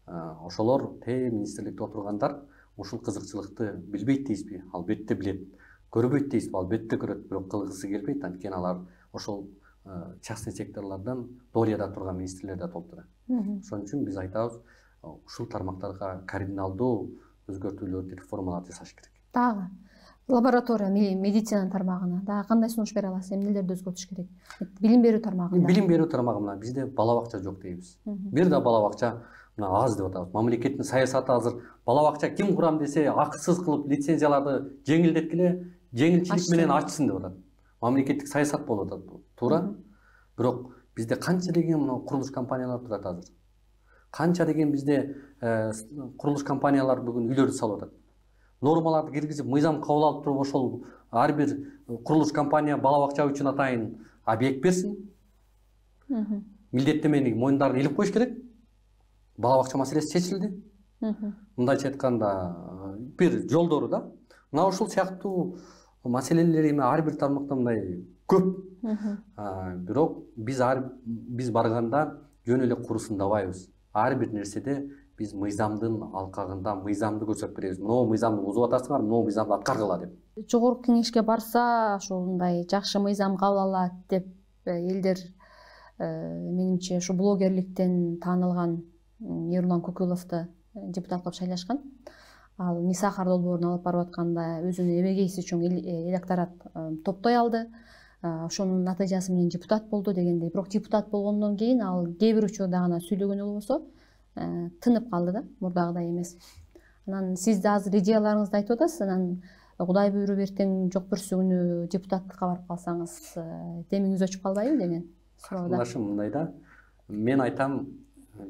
Ошолор те министрликте отургандар ушул кызыкчылыкты билбейт дейсизби? Албетте билет. Көрбөйт дейсизби? Албетте көрөт, бирок кылгысы келбейт. Анткени алар ошол частный секторлордон долияда турган министрлерде толтура. Ошон үчүн биз айтабыз, ушул тармактарга кардиналдуу өзгөртүүлөрдү, реформаларды жасаш керек. Дагы лаборатория медицина тармагына дагы кандай сунуш бере аласыз? Эмнелерди өзгөртүш керек? Билим берүү тармагында. Билим берүү тармагында бизде бала бакча жок дейбиз. Бир да бала бакча мына аз деп атабыз. Мамлекеттин саясаты азыр бала бакча ким курам десе, акысыз кылып лицензияларды жеңилдеткиле, жеңилчилик менен ачсын деп атат. Мамлекеттик саясат болуп атат, туура. Бирок бизде канча деген мына курулуш компаниялар турат азыр. Канча деген бизде курулуш компаниялар бүгүн үйлөрдү салып атат. Нормаларды киргизип, мыйзам кабыл алып туруп, ошол ар бир курулуш компания бала бакча үчүн атайын объект берсин. Милдеттемени мойундарын илип коюш керек. Бала бакча маселеси чечилди. Мындайча айтканда, бир жолдору да. Мына ушул сыяктуу маселелер эми ар бир тармакта мындай көп. Бирок биз ар биз барганда жөн эле курусундабайбыз. Ар бир нерседе биз мыйзамдын алкагында мыйзамды көрсөтүп беребиз. Могу мыйзамды бузуп атасыңар, могу мыйзамды аткаргыла деп. Жогорку кеңешке барса, ошондой жакшы мыйзам кабыл алат деп элдер менимче ушу блогерликтен таанылган Эрлан Көкөловду депутат кылып шайлашкан. Ал Ниса долбоорун алып барып атканда өзүнүн эбегейси үчүн электорат топтой алды. Ошонун натыйжасы менен депутат болду дегендей. Бирок депутат болгондон кийин ал кээ бир учурда гана сүйлөгөнү болбосо тынып калды да, мурдагыдай эмес. Анан сиз да азыр идеяларыңызды айтып атасыз. Анан Кудай буйруп эртең жок бүрсү күнү депутаттыкка барып калсаңыз, демиңиз өчүп калбайбы деген суроодо. Катнашым мындай да. Мен айтам,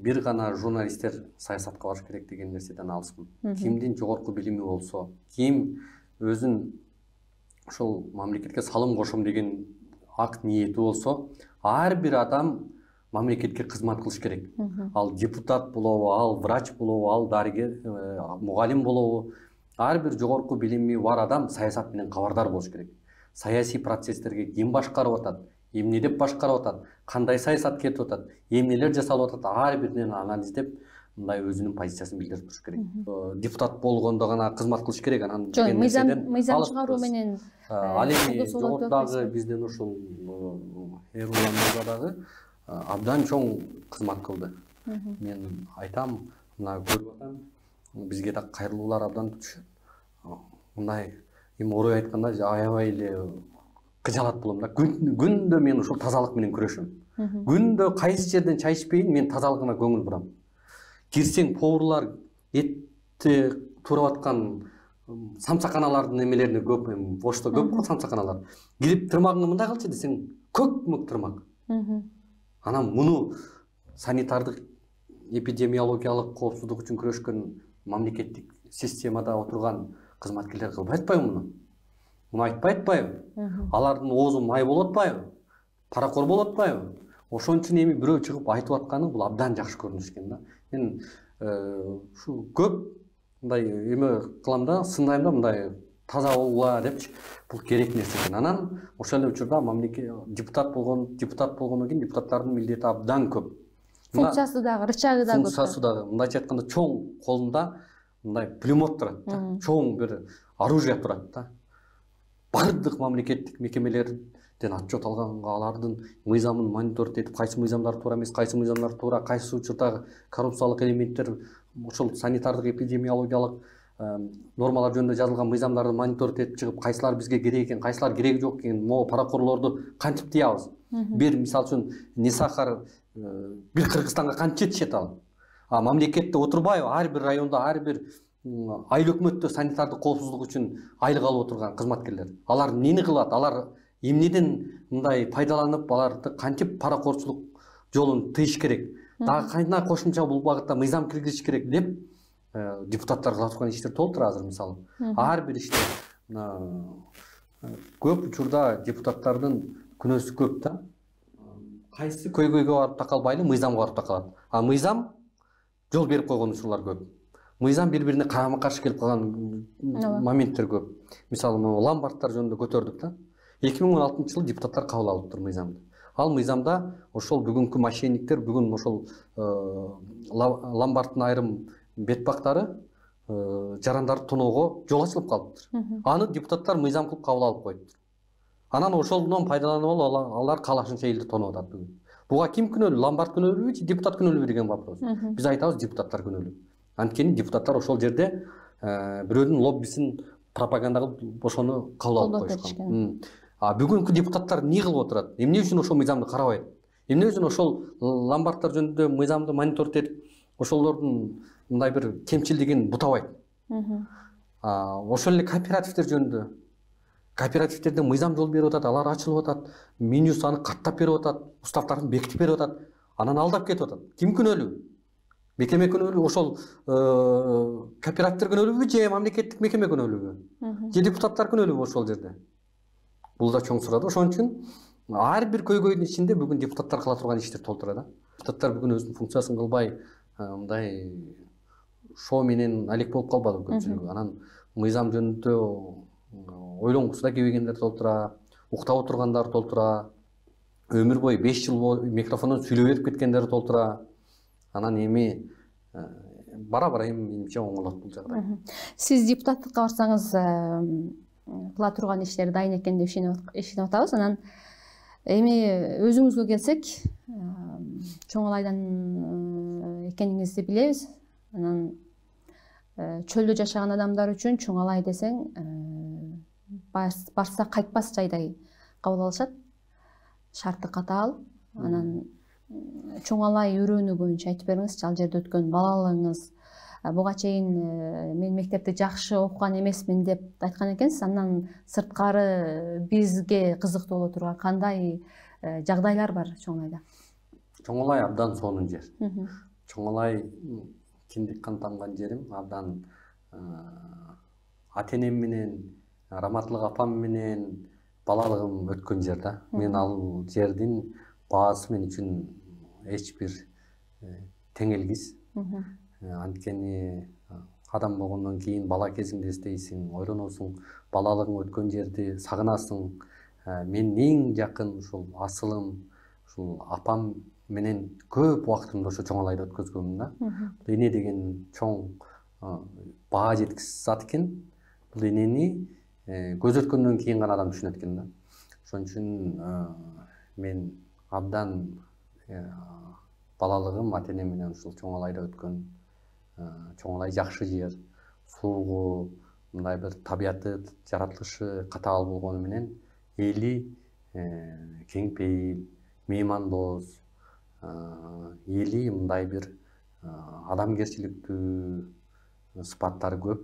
бир гана журналисттер саясатка барыш керек деген нерседен алыспын. Кимдин жогорку билими болсо, ким өзүн ошол мамлекетке салым кошом деген акт ниети болсо, ар бир адам мамлекетке кызмат кылыш керек. Ал депутат болобу, ал врач болобу, ал дарыгер, мугалим болобу, ар бир жогорку билими бар адам саясат менен кабардар болуш керек. Саясий процесстерге ким башкарып атат, эмнелеп башкарып атат, кандай саясат кетип атат, эмнелер жасалып атат, ар биринен анализдеп мындай өзүнүн позициясын билдирип туруш керек. Депутат болгондо гана кызмат кылыш керек, анан жок, мыйзам мыйзам чыгаруу менен ал эми жогорудагы биздин ушул Эрулан мырза дагы абдан чоң кызмат кылды. Мен айтам, мына көрүп атам, бизге да кайрылуулар абдан түшөт. Мындай эми орой айтканда аябай эле кыжалат болом да. Күндө мен ушул тазалык менен күрөшөм. Күндө кайсы жерден чай ичпейин, мен тазалыгына көңүл бурам. Кирсең поварлар этти турап аткан самсаканалардын эмелерине көп, эми бошто көп го самсаканалар. Кирип тырмагыңды мындай кылчы десең, көк мөк тырмак. Анан муну санитардык эпидемиологиялык коопсуздук үчүн күрөшкөн мамлекеттик системада отурган кызматкерлер кылбай атпайбы муну? Муну айтпай атпайбы? Алардын оозу май болуп атпайбы? Паракор болуп атпайбы? Ошон үчүн эми бирөө чыгып айтып атканы бул абдан жакшы көрүнүш экен да. Мен ушу көп мындай эме кылам да, сындайм да, мындай таза болула депчи, бул керек нерсе экен. Анан ошол эле учурда мамлекет депутат болгон, депутат болгондон кийин депутаттардын милдети абдан көп. Функциясы дагы, рычагы дагы көп. Функциясы дагы, мындайча айтканда, чоң колунда мындай пулемет турат да, чоң бир оружие турат да. Бардык мамлекеттик мекемелерден отчет алганга, алардын мыйзамын мониторить этип, кайсы мыйзамдар туура эмес, кайсы мыйзамдар туура, кайсы учурда коррупциялык элементтер, ошол санитардык эпидемиологиялык нормалар жөнүндө жазылган мыйзамдарды мониторить этип чыгып, кайсылар бизге керек экен, кайсылар кереги жок экен, могу паракорлорду кантип тыябыз? Бир мисал үчүн не сахар бир Кыргызстанга кантип жетишет ал? А мамлекетте отурбайбы? Ар бир райондо, ар бир айыл өкмөттө санитардык коопсуздук үчүн айлык алып отурган кызматкерлер. Алар эмнени кылат? Алар эмнеден мындай пайдаланып, аларды кантип паракорчулук жолун тыйыш керек? Дагы кайда кошумча бул багытта мыйзам киргизиш керек деп депутаттар кыла турган иштер толтур азыр мисалы. Ар бир иште көп учурда депутаттардын күнөөсү көп да. Кайсы көйгөйгө барып такалбайлы, мыйзамга барып такалат. А мыйзам жол берип койгон учурлар көп. Мыйзам бири-бирине карама каршы келип калган моменттер көп. Мисалы, могу ломбардтар жөнүндө көтөрдүк да. эки миң он алтынчы жылы депутаттар кабыл алыптыр мыйзамды. Ал мыйзамда ошол бүгүнкү мошенниктер, бүгүн ошол ломбардтын айрым бет бактары жарандарды тоноого жол ачылып калыптыр. Аны депутаттар мыйзам кылып кабыл алып коюптур. Анан ошолдон пайдаланып алып алар каалашынча элди тонуп атат бүгүн. Буга ким күнөөлүү? Ломбард күнөөлүүбү же депутат күнөөлүүбү деген вопрос. Биз айтабыз, депутаттар күнөөлүү. Анткени депутаттар ошол жерде бирөөнүн лоббисин пропаганда кылып ошону кабыл алып коюшкан. А бүгүнкү депутаттар эмне кылып отурат? Эмне үчүн ошол мыйзамды карабайт? Эмне үчүн ошол ломбардтар жөнүндө мыйзамды мониторить этип, ошолордун мындай бир кемчилдигин бутабайт? Ошол эле кооперативдер жөнүндө. Кооперативдерде мыйзам жол берип атат, алар ачылып атат, менюс аны каттап берип атат, уставтарын бекитип берип атат, анан алдап кетип атат. Ким күнөөлүү? Мекеме күнөөлүү, ошол кооперативдер күнөөлүүбү же мамлекеттик мекеме күнөөлүүбү? Же депутаттар күнөөлүүбү ошол жерде? Бул да чоң суроо да. Ошон үчүн ар бир көйгөйдүн ичинде бүгүн депутаттар кыла турган иштер толтура да. Депутаттар бүгүн өзүнүн функциясын кылбай, мындай шоо менен алек болуп калбады көпчүлүгү. Анан мыйзам жөнүндө ойлонгусу да келбегендер толтура, уктап отургандар толтура, өмүр бою беш жыл микрофондон сүйлөп өтүп кеткендер толтура. Анан эми бара-бара эми менимче оңолот бул жагдай. Сиз депутаттыкка барсаңыз кыла турган иштер дайын экен деп ишенип атабыз. Анан эми өзүңүзгө келсек, Чоңалайдан экениңизди билебиз. Анан чөлдө жашаган адамдар үчүн Чоңалай десең барса кайтпас жайдай кабыл алышат. Шарты катаал. Анан Чоңалай өрөөнү боюнча айтып бериңизчи, ал жерде өткөн балалыгыңыз. Буга чейин мен мектепти жакшы окуган эмесмин деп айткан экенсиз. Андан сырткары бизге кызыктуу боло турган кандай жагдайлар бар Чоңалайда? Чоңалай абдан сонун жер. Чоңалай киндик кан тамган жерим, абдан ата-энем менен, Раматлык апам менен балалыгым өткөн жер да. Мен ал жердин баасы мен үчүн эч бир теңелгис. Анткени адам болгондон кийин бала кезиңди эстейсиң, ойлоносуң, балалыгың өткөн жерди сагынасың. менин эң жакын ушул асылым, ушул апам менен көп убактымды ошо Чоң Алайда өткөзгөнмүн да. Бул эне деген чоң баа жеткис зат экен. Бул энени көз өткөндөн кийин гана адам түшүнөт экен да. Ошон үчүн мен абдан балалыгым ата энем менен ушул Чоң Алайда өткөн. Чоң Алай жакшы жер, суугу, мындай бир табияты, жаратылышы катаал болгону менен эли кең пейил, меймандост, эли мындай бир адамгерчиликтүү сыпаттары көп.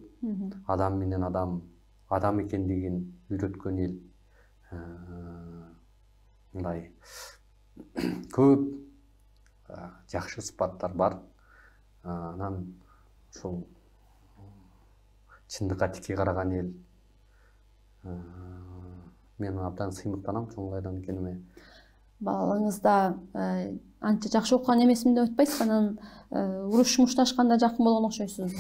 Адам менен адам адам экендигин үйрөткөн эл. Мындай көп жакшы сыпаттар бар. Анан ушул чындыкка тики караган эл. Мен абдан сыймыктанам Чоң Алайдан экениме. Балалыгыңызда анча жакшы окуган эмесмин деп айтпайсызбы? Анан уруш мушташканда жакын болгон окшойсуз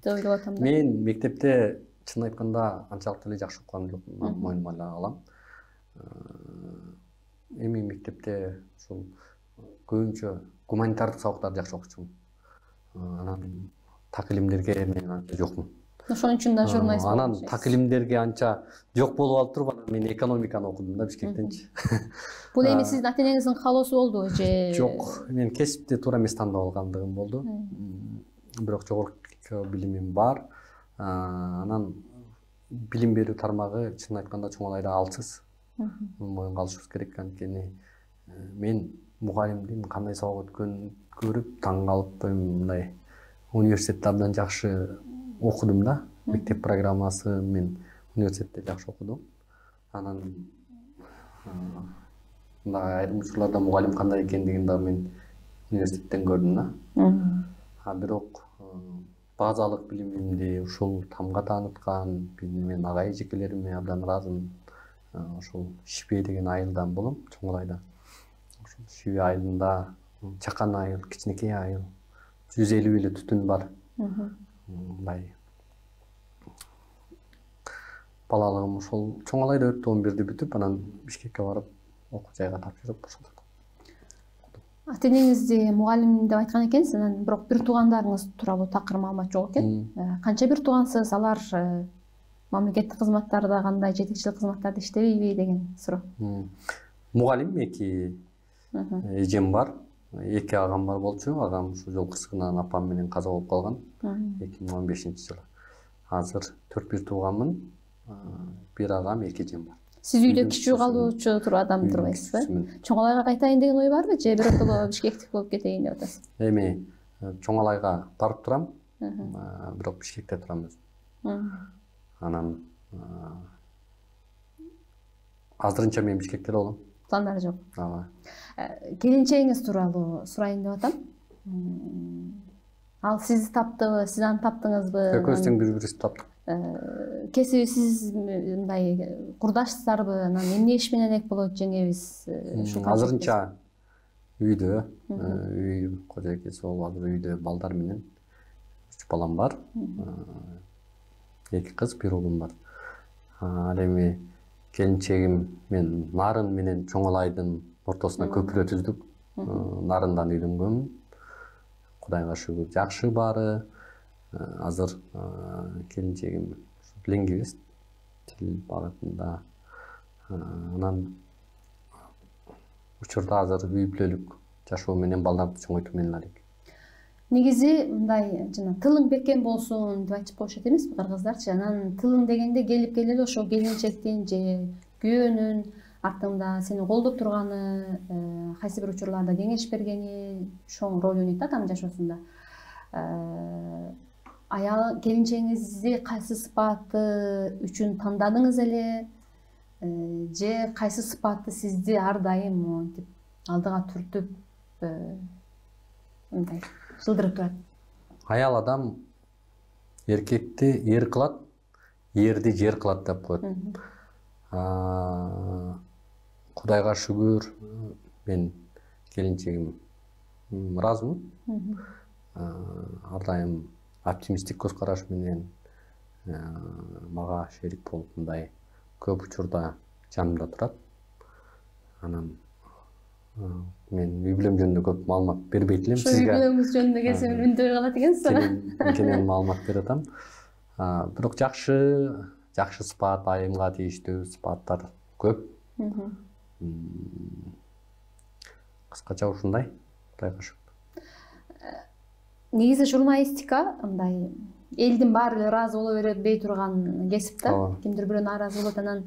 деп ойлоп атам да. Мен мектепте чын айтканда анчалык эле жакшы окуган жокмун, моюнума эле алам. Эми мектепте ушул көбүнчө гуманитардык сабактарды жакшы окучумун. Анан так илимдерге мен анча жокмун. Ошон үчүн да журналист болдуңуз. Анан так илимдерге анча жок болуп алып туруп, анан мен экономиканы окудум да Бишкектенчи. Бул эми сиздин ата энеңиздин каалоосу болдубу же? Жок, мен кесипти туура эмес тандап алгандыгым болду. Бирок жогорку билимим бар. Анан билим берүү тармагы чын айтканда Чоң Алайда алсыз. Моюнга алышыбыз керек, анткени мен мугалимдин кандай сабак өткөнүн көрүп таң калып, мындай университетте абдан жакшы окудум да. Мектеп программасы мен университетте жакшы окудум. Анан мындай айрым учурларда мугалим кандай экендигин да мен университеттен көрдүм да. А бирок базалык билимимди ушул тамга тааныткан мен агай эжекелериме абдан ыраазымын. Ошол Шибе деген айылдан болом, Чоң Алайда. Ошол Шибе айылында чакан айыл, кичинекей айыл, жүз элүү эле түтүн бар. Мындай балалыгым ошол Чоң Алайда өттү. он бирди бүтүп, анан Бишкекке барып окуу жайга тапшырып ошол. Ата энеңизди мугалим деп айткан экенсиз, анан бирок бир туугандарыңыз тууралуу такыр маалымат жок экен. Канча бир туугансыз? Алар мамлекеттик кызматтарда кандай жетекчилик кызматтарда иштебейби деген суроо. Мугалим эки эжем бар, эки агам бар болчу. Агам ушул жол кырсыгынан апам менен каза болуп калган эки миң он бешинчи жылы. Азыр төрт бир тууганмын. Бир агам, эки эжем бар. Сиз үйдө кичүү калуучу туруп адам турбайсызбы? Чоң Алайга кайтайын деген ой барбы же биротоло Бишкектик болуп кетейин деп атасыз? Эми Чоң Алайга барып турам, бирок Бишкекте турам өзүм. Анан азырынча мен Бишкекте болом. Пландар жок. Ооба. Келинчегиңиз тууралуу сурайын деп атам. Ал сизди таптыбы, сиз аны таптыңызбы? Экөөбүз тең бири-бирибизди таптык. Кесиби сиз мындай курдаштарбы? Анан эмне иш менен элек болот жеңебиз? Азырынча үйдө, үй кожойкеси болуп азыр үйдө балдар менен. Үч балам бар. Эки кыз, бир уулум бар. Ал эми келинчегим мен Нарын менен Чоң Алайдын ортосуна көпүрө түздүк. Нарындан үйлөнгөнмүн. Кудайга шүгүр, жакшы баары. Азыр келинчегим лингвист, тил багытында. Анан учурда азыр үй бүлөлүк жашоо менен балдарды чоңойтуу менен алек. Негизи мындай жана тылың бекем болсун деп айтып коюшат эмеспи кыргыздарчы? Анан тылың дегенде келип келели ошо келинчектин же күйөөнүн артыңда сени колдоп турганы, кайсы бир учурларда кеңеш бергени чоң роль ойнойт да адам жашоосунда. Аял келинчегиңизди кайсы сыпаты үчүн тандадыңыз эле же кайсы сыпаты сизди ар дайым монтип алдыга түртүп мындай жылдырып турат? Аял адам эркекти эр кылат, эрди жер кылат деп коет. Кудайга шүгүр, мен келинчегим ыраазымын. Ар дайым оптимисттик көз караш менен мага шерик болуп мындай көп учурда жанымда турат. анан мен үй бүлөм жөнүндө көп маалымат бербейт элем сизге. Үй бүлөңүз жөнүндө келсе үндөй калат экенсиз. Кенен маалымат берип атам. Бирок жакшы, жакшы сыпат, айымга тийиштүү сыпаттар көп. Кыскача ушундай. Кудайга шүкүр. Негизи журналистика мындай элдин баары эле ыраазы боло бербей турган кесип да. Кимдир бирөө нааразы болот, анан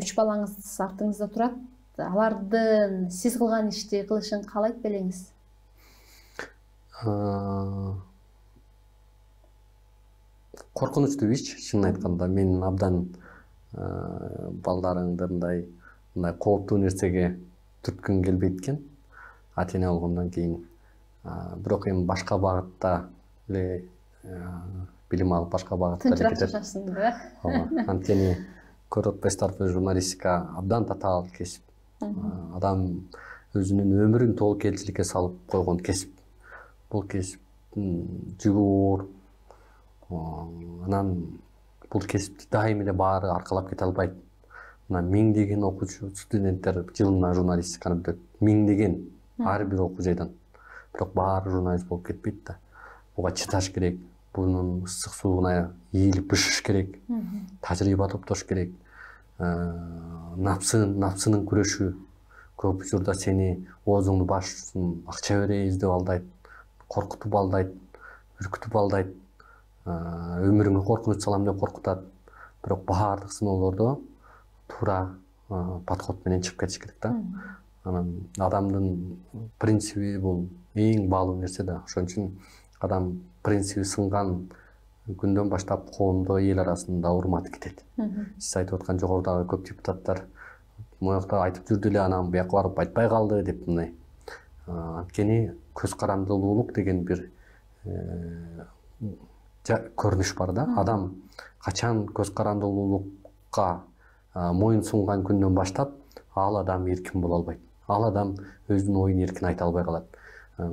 үч балаңыз артыңызда турат. Алардын сиз кылган ишти кылышын каалайт белеңиз? Коркунучтуу иш, чынын айтканда. Мен абдан балдарыңды мындай мындай кооптуу нерсеге түрткүм келбейт экен. Ата-эне болгондон кийин. Бирок эми башка багытта эле билим алып, башка багытта эле кетет. Тынчыраак жашашсын, ооба. Анткени көрүп атпайсыздарбы, журналистика абдан татаал кесип. Адам өзүнүн өмүрүн тобокелчиликке салып койгон кесип. Бул кесип жүгү оор. Анан бул кесипти дайым эле баары аркалап кете албайт. Мына миңдеген окуучу студенттер жылына журналистиканы бүтөт. Миңдеген ар бир окуу жайдан. Бирок баары журналист болуп кетпейт да. Буга чыдаш керек. Бунун ысык сууна ийилип бышыш керек. Тажрыйба топтош керек. Напсын, напсынын күрөшү. Көп учурда сени оозуңду башсын, акча берейбиз деп алдайт, коркутуп алдайт, үркүтүп алдайт, өмүрүңө коркунуч салам деп коркутат. Бирок баардык сыноолордо туура подход менен чыгып кетиш керек да. Анан адамдын принциби бул эң баалуу нерсе да. Ошон үчүн адам принциби сынган күндөн баштап коомдо, эл арасында урматы кетет. Сиз айтып аткан жогорудагы көп депутаттар моякта айтып жүрдү эле, анан буяка барып айтпай калды деп мындай. Анткени көз карандылуулук деген бир көрүнүш бар да. Адам качан көз карандылуулукка моюн сунган күндөн баштап ал адам эркин боло албайт. Ал адам өзүнүн оюн эркин айта албай калат.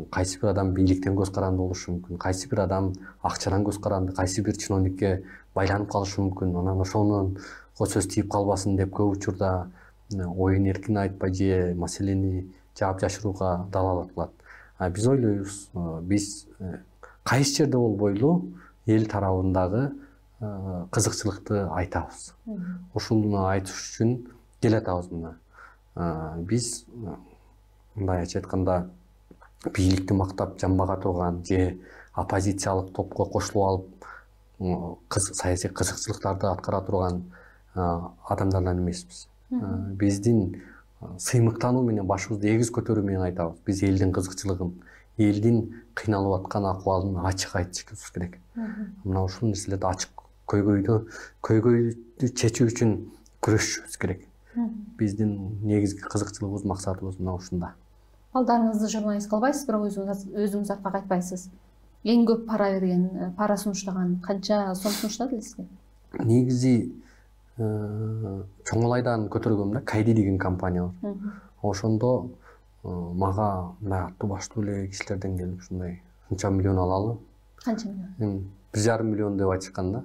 Кайсы бир адам бийликтен көз каранды болушу мүмкүн, кайсы бир адам акчадан көз каранды, кайсы бир чиновникке байланып калышы мүмкүн. Анан ошонун сөз тийип калбасын деп көп учурда оюн эркин айтпай же маселени жаап жашырууга далалат кылат. Биз ойлойбуз, биз кайсы жерде болбойлу эл тарабындагы кызыкчылыкты айтабыз. Ушуну айтыш үчүн келатабыз мына. Биз мындай айтып айтканда бийликти мактап жамбага турган же оппозициялык топко кошулуп алып саясий кызыкчылыктарды аткара турган адамдардан эмеспиз. Биздин сыймыктануу менен башыбызды эгиз көтөрүү менен айтабыз. Биз элдин кызыкчылыгын, элдин кыйналып аткан акыбалын ачык айтышыбыз керек. Мына ушул нерселерди ачык көйгөйдү, көйгөйдү чечүү үчүн күрөшүшүбүз керек. Биздин негизги кызыкчылыгыбыз, максатыбыз мына ушунда. Балдарыңызды журналист кылбайсыз, бирок өзүңүз артка кайтпайсыз. Эң көп пара берген, пара сунуштаган канча сом сунуштады сизге? Негизи Чоңолайдан көтөргөм да, Кайди деген компания бар. Ошондо мага мындай аттуу баштуу эле кишилерден келип ушундай канча миллион алалы. Канча миллион? бир жарым миллион деп айтышкан да.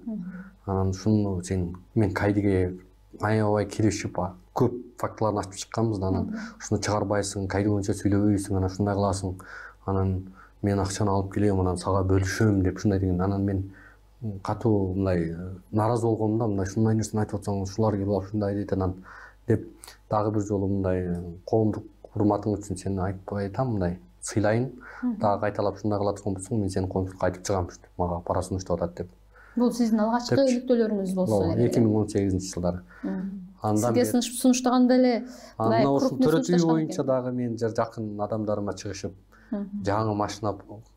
Анан ушуну сен мен Кайдиге аябай киришип көп фактыларын ачып чыкканбыз да, анан ушуну чыгарбайсың, Кайди боюнча сүйлөбөйсүң, анан ушундай кыласың. Анан мен акчаны алып келем, анан сага бөлүшөм деп ушундай деген. Анан мен катуу мындай нааразы болгом да, мындай ушундай нерсени айтып атсаң, ушулар келип ушундай дейт анан деп дагы бир жолу мындай коомдук урматың үчүн сени айтпай айтам, мындай сыйлайын. Дагы кайталап ушундай кыла турган болсоң, мен сени коомчулукка айтып чыгам деп, мага пара сунуштап атат деп. Бул сиздин алгачкы иликтөөлөрүңүз болсо. эки миң он сегизинчи жылдары. Сизге сунуштаганда эле мындай төрөтүү боюнча дагы мен жакын адамдарыма чыгышып, жаңы машина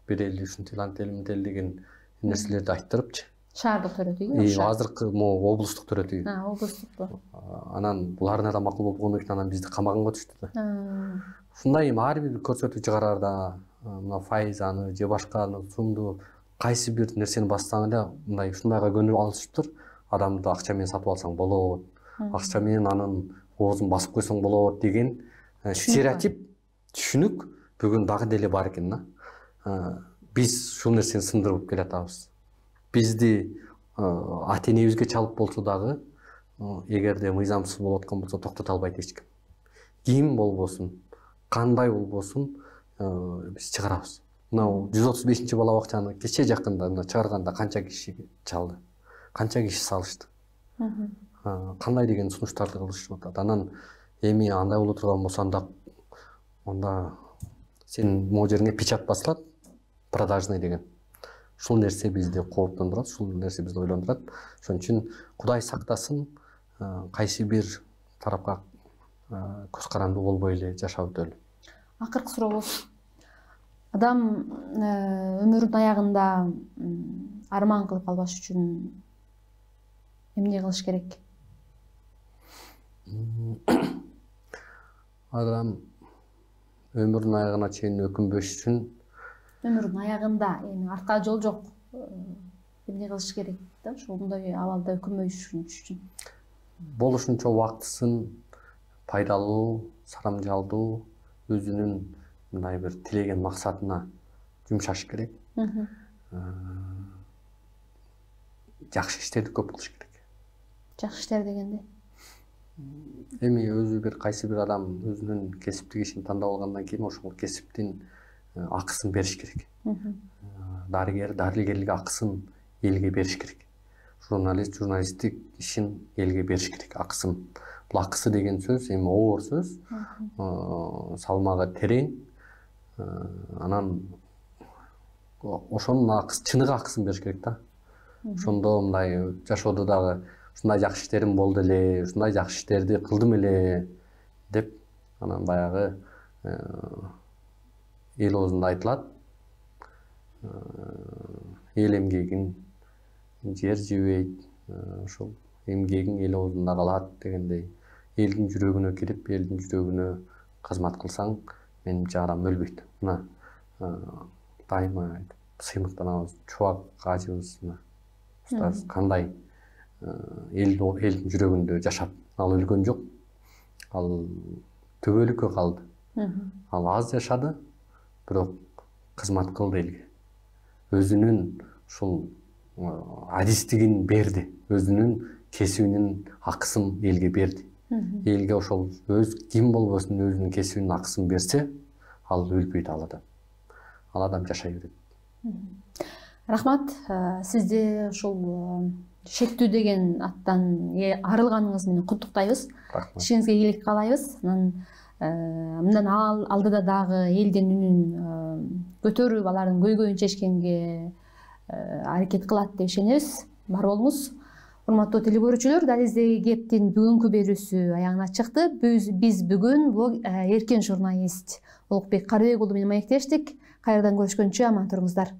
берели, ушинтип антели ментели деген нерселерди айттырыпчы. Шаардык төрөтүүгө? Азыркы могу облустук төрөтүү. А, облустукпу. Анан буларына да макул болгондон кийин анан бизди камаганга түштү да. Ушундай ар бир көрсөтүү чыгарарда мына файзаны же башканы сумду кайсы бир нерсени бассаң эле мындай ушундайга көнүп алышыптыр. Адамды акча менен сатып алсаң болот, акча менен анын оозун басып койсоң болот деген стереотип, түшүнүк бүгүн дагы деле бар экен да. Биз ушул нерсени сындырып келатабыз. Бизди ата-энебизге чалып болсо дагы, эгерде мыйзамсыз болуп аткан болсо токтото албайт эч ким. ким болбосун, кандай болбосун биз чыгарабыз. Мына жүз отуз бешинчи бала бакчаны кече жакында мына чыгарганда канча киши чалды, канча киши салышты, кандай деген сунуштарды кылышып атат. Анан эми андай боло турган болсо анда анда сен могу жериңе печать басылат, продажный деген. Ушул нерсе бизди кооптондурат, ушул нерсе бизди ойлондурат. Ошон үчүн Кудай сактасын, кайсы бир тарапка көз карандуу болбой эле жашап өтөлү. Акыркы суроо болсун. Адам өмүрүнүн аягында арман кылып калбаш үчүн эмне кылыш керек? Адам өмүрүнүн аягына чейин өкүнбөш үчүн өмүрүнүн аягында эми артка жол жок. Эмне кылыш керек да? Ошондой абалда өкүнбөш үчүн болушунча убактысын пайдалуу, сарамжалдуу, өзүнүн мындай бир тилеген максатына жумшаш керек. Жакшы иштерди көп кылыш керек. Жакшы иштер дегенде? Эми өзү бир кайсы бир адам өзүнүн кесиптик ишин тандап алгандан кийин ошол кесиптин акысын бериш керек. Дарыгер дарыгерлик акысын элге бериш керек. Журналист журналисттик ишин элге бериш керек акысын. Бул акысы деген сөз эми оор сөз, салмагы терең. Анан ошонун акысы, чыныгы акысын бериш керек да. Ошондо мындай жашоодо дагы ушундай жакшы иштерим болду эле, ушундай жакшы иштерди кылдым эле деп анан баягы эл оозунда айтылат. Эл эмгегин жер жебейт, ошол эмгегиң эл оозунда калат дегендей. Элдин жүрөгүнө кирип, элдин жүрөгүнө кызмат кылсаң, менимче адам өлбөйт. Мына дайыма сыймыктанабыз, Чубак ажыбыз устаз кандай элдин жүрөгүндө жашап, ал өлгөн жок, ал төбөлүккө калды. Ал аз жашады, бирок кызмат кылды элге. Өзүнүн ушул адистигин берди, өзүнүн кесибинин акысын элге берди. Элге ошол өз ким болбосун өзүнүн кесибинин акысын берсе, ал өлбөйт ал адам. Ал адам жашай берет. Рахмат, сизди ушул шектүү деген аттан арылганыңыз менен куттуктайбыз. Ишиңизге ийгилик каалайбыз. Анан мындан алдыда дагы элдин үнүн көтөрүп, алардын көйгөйүн чечкенге аракет кылат деп ишенебиз. Бар болуңуз. Урматтуу телекөрүүчүлөр, Дализдеги кептин бүгүнкү берүүсү аягына чыкты. Биз бүгүн эркен журналист Улукбек Карыбек уулу менен маектештик. Кайрадан көрүшкөнчө аман туруңуздар.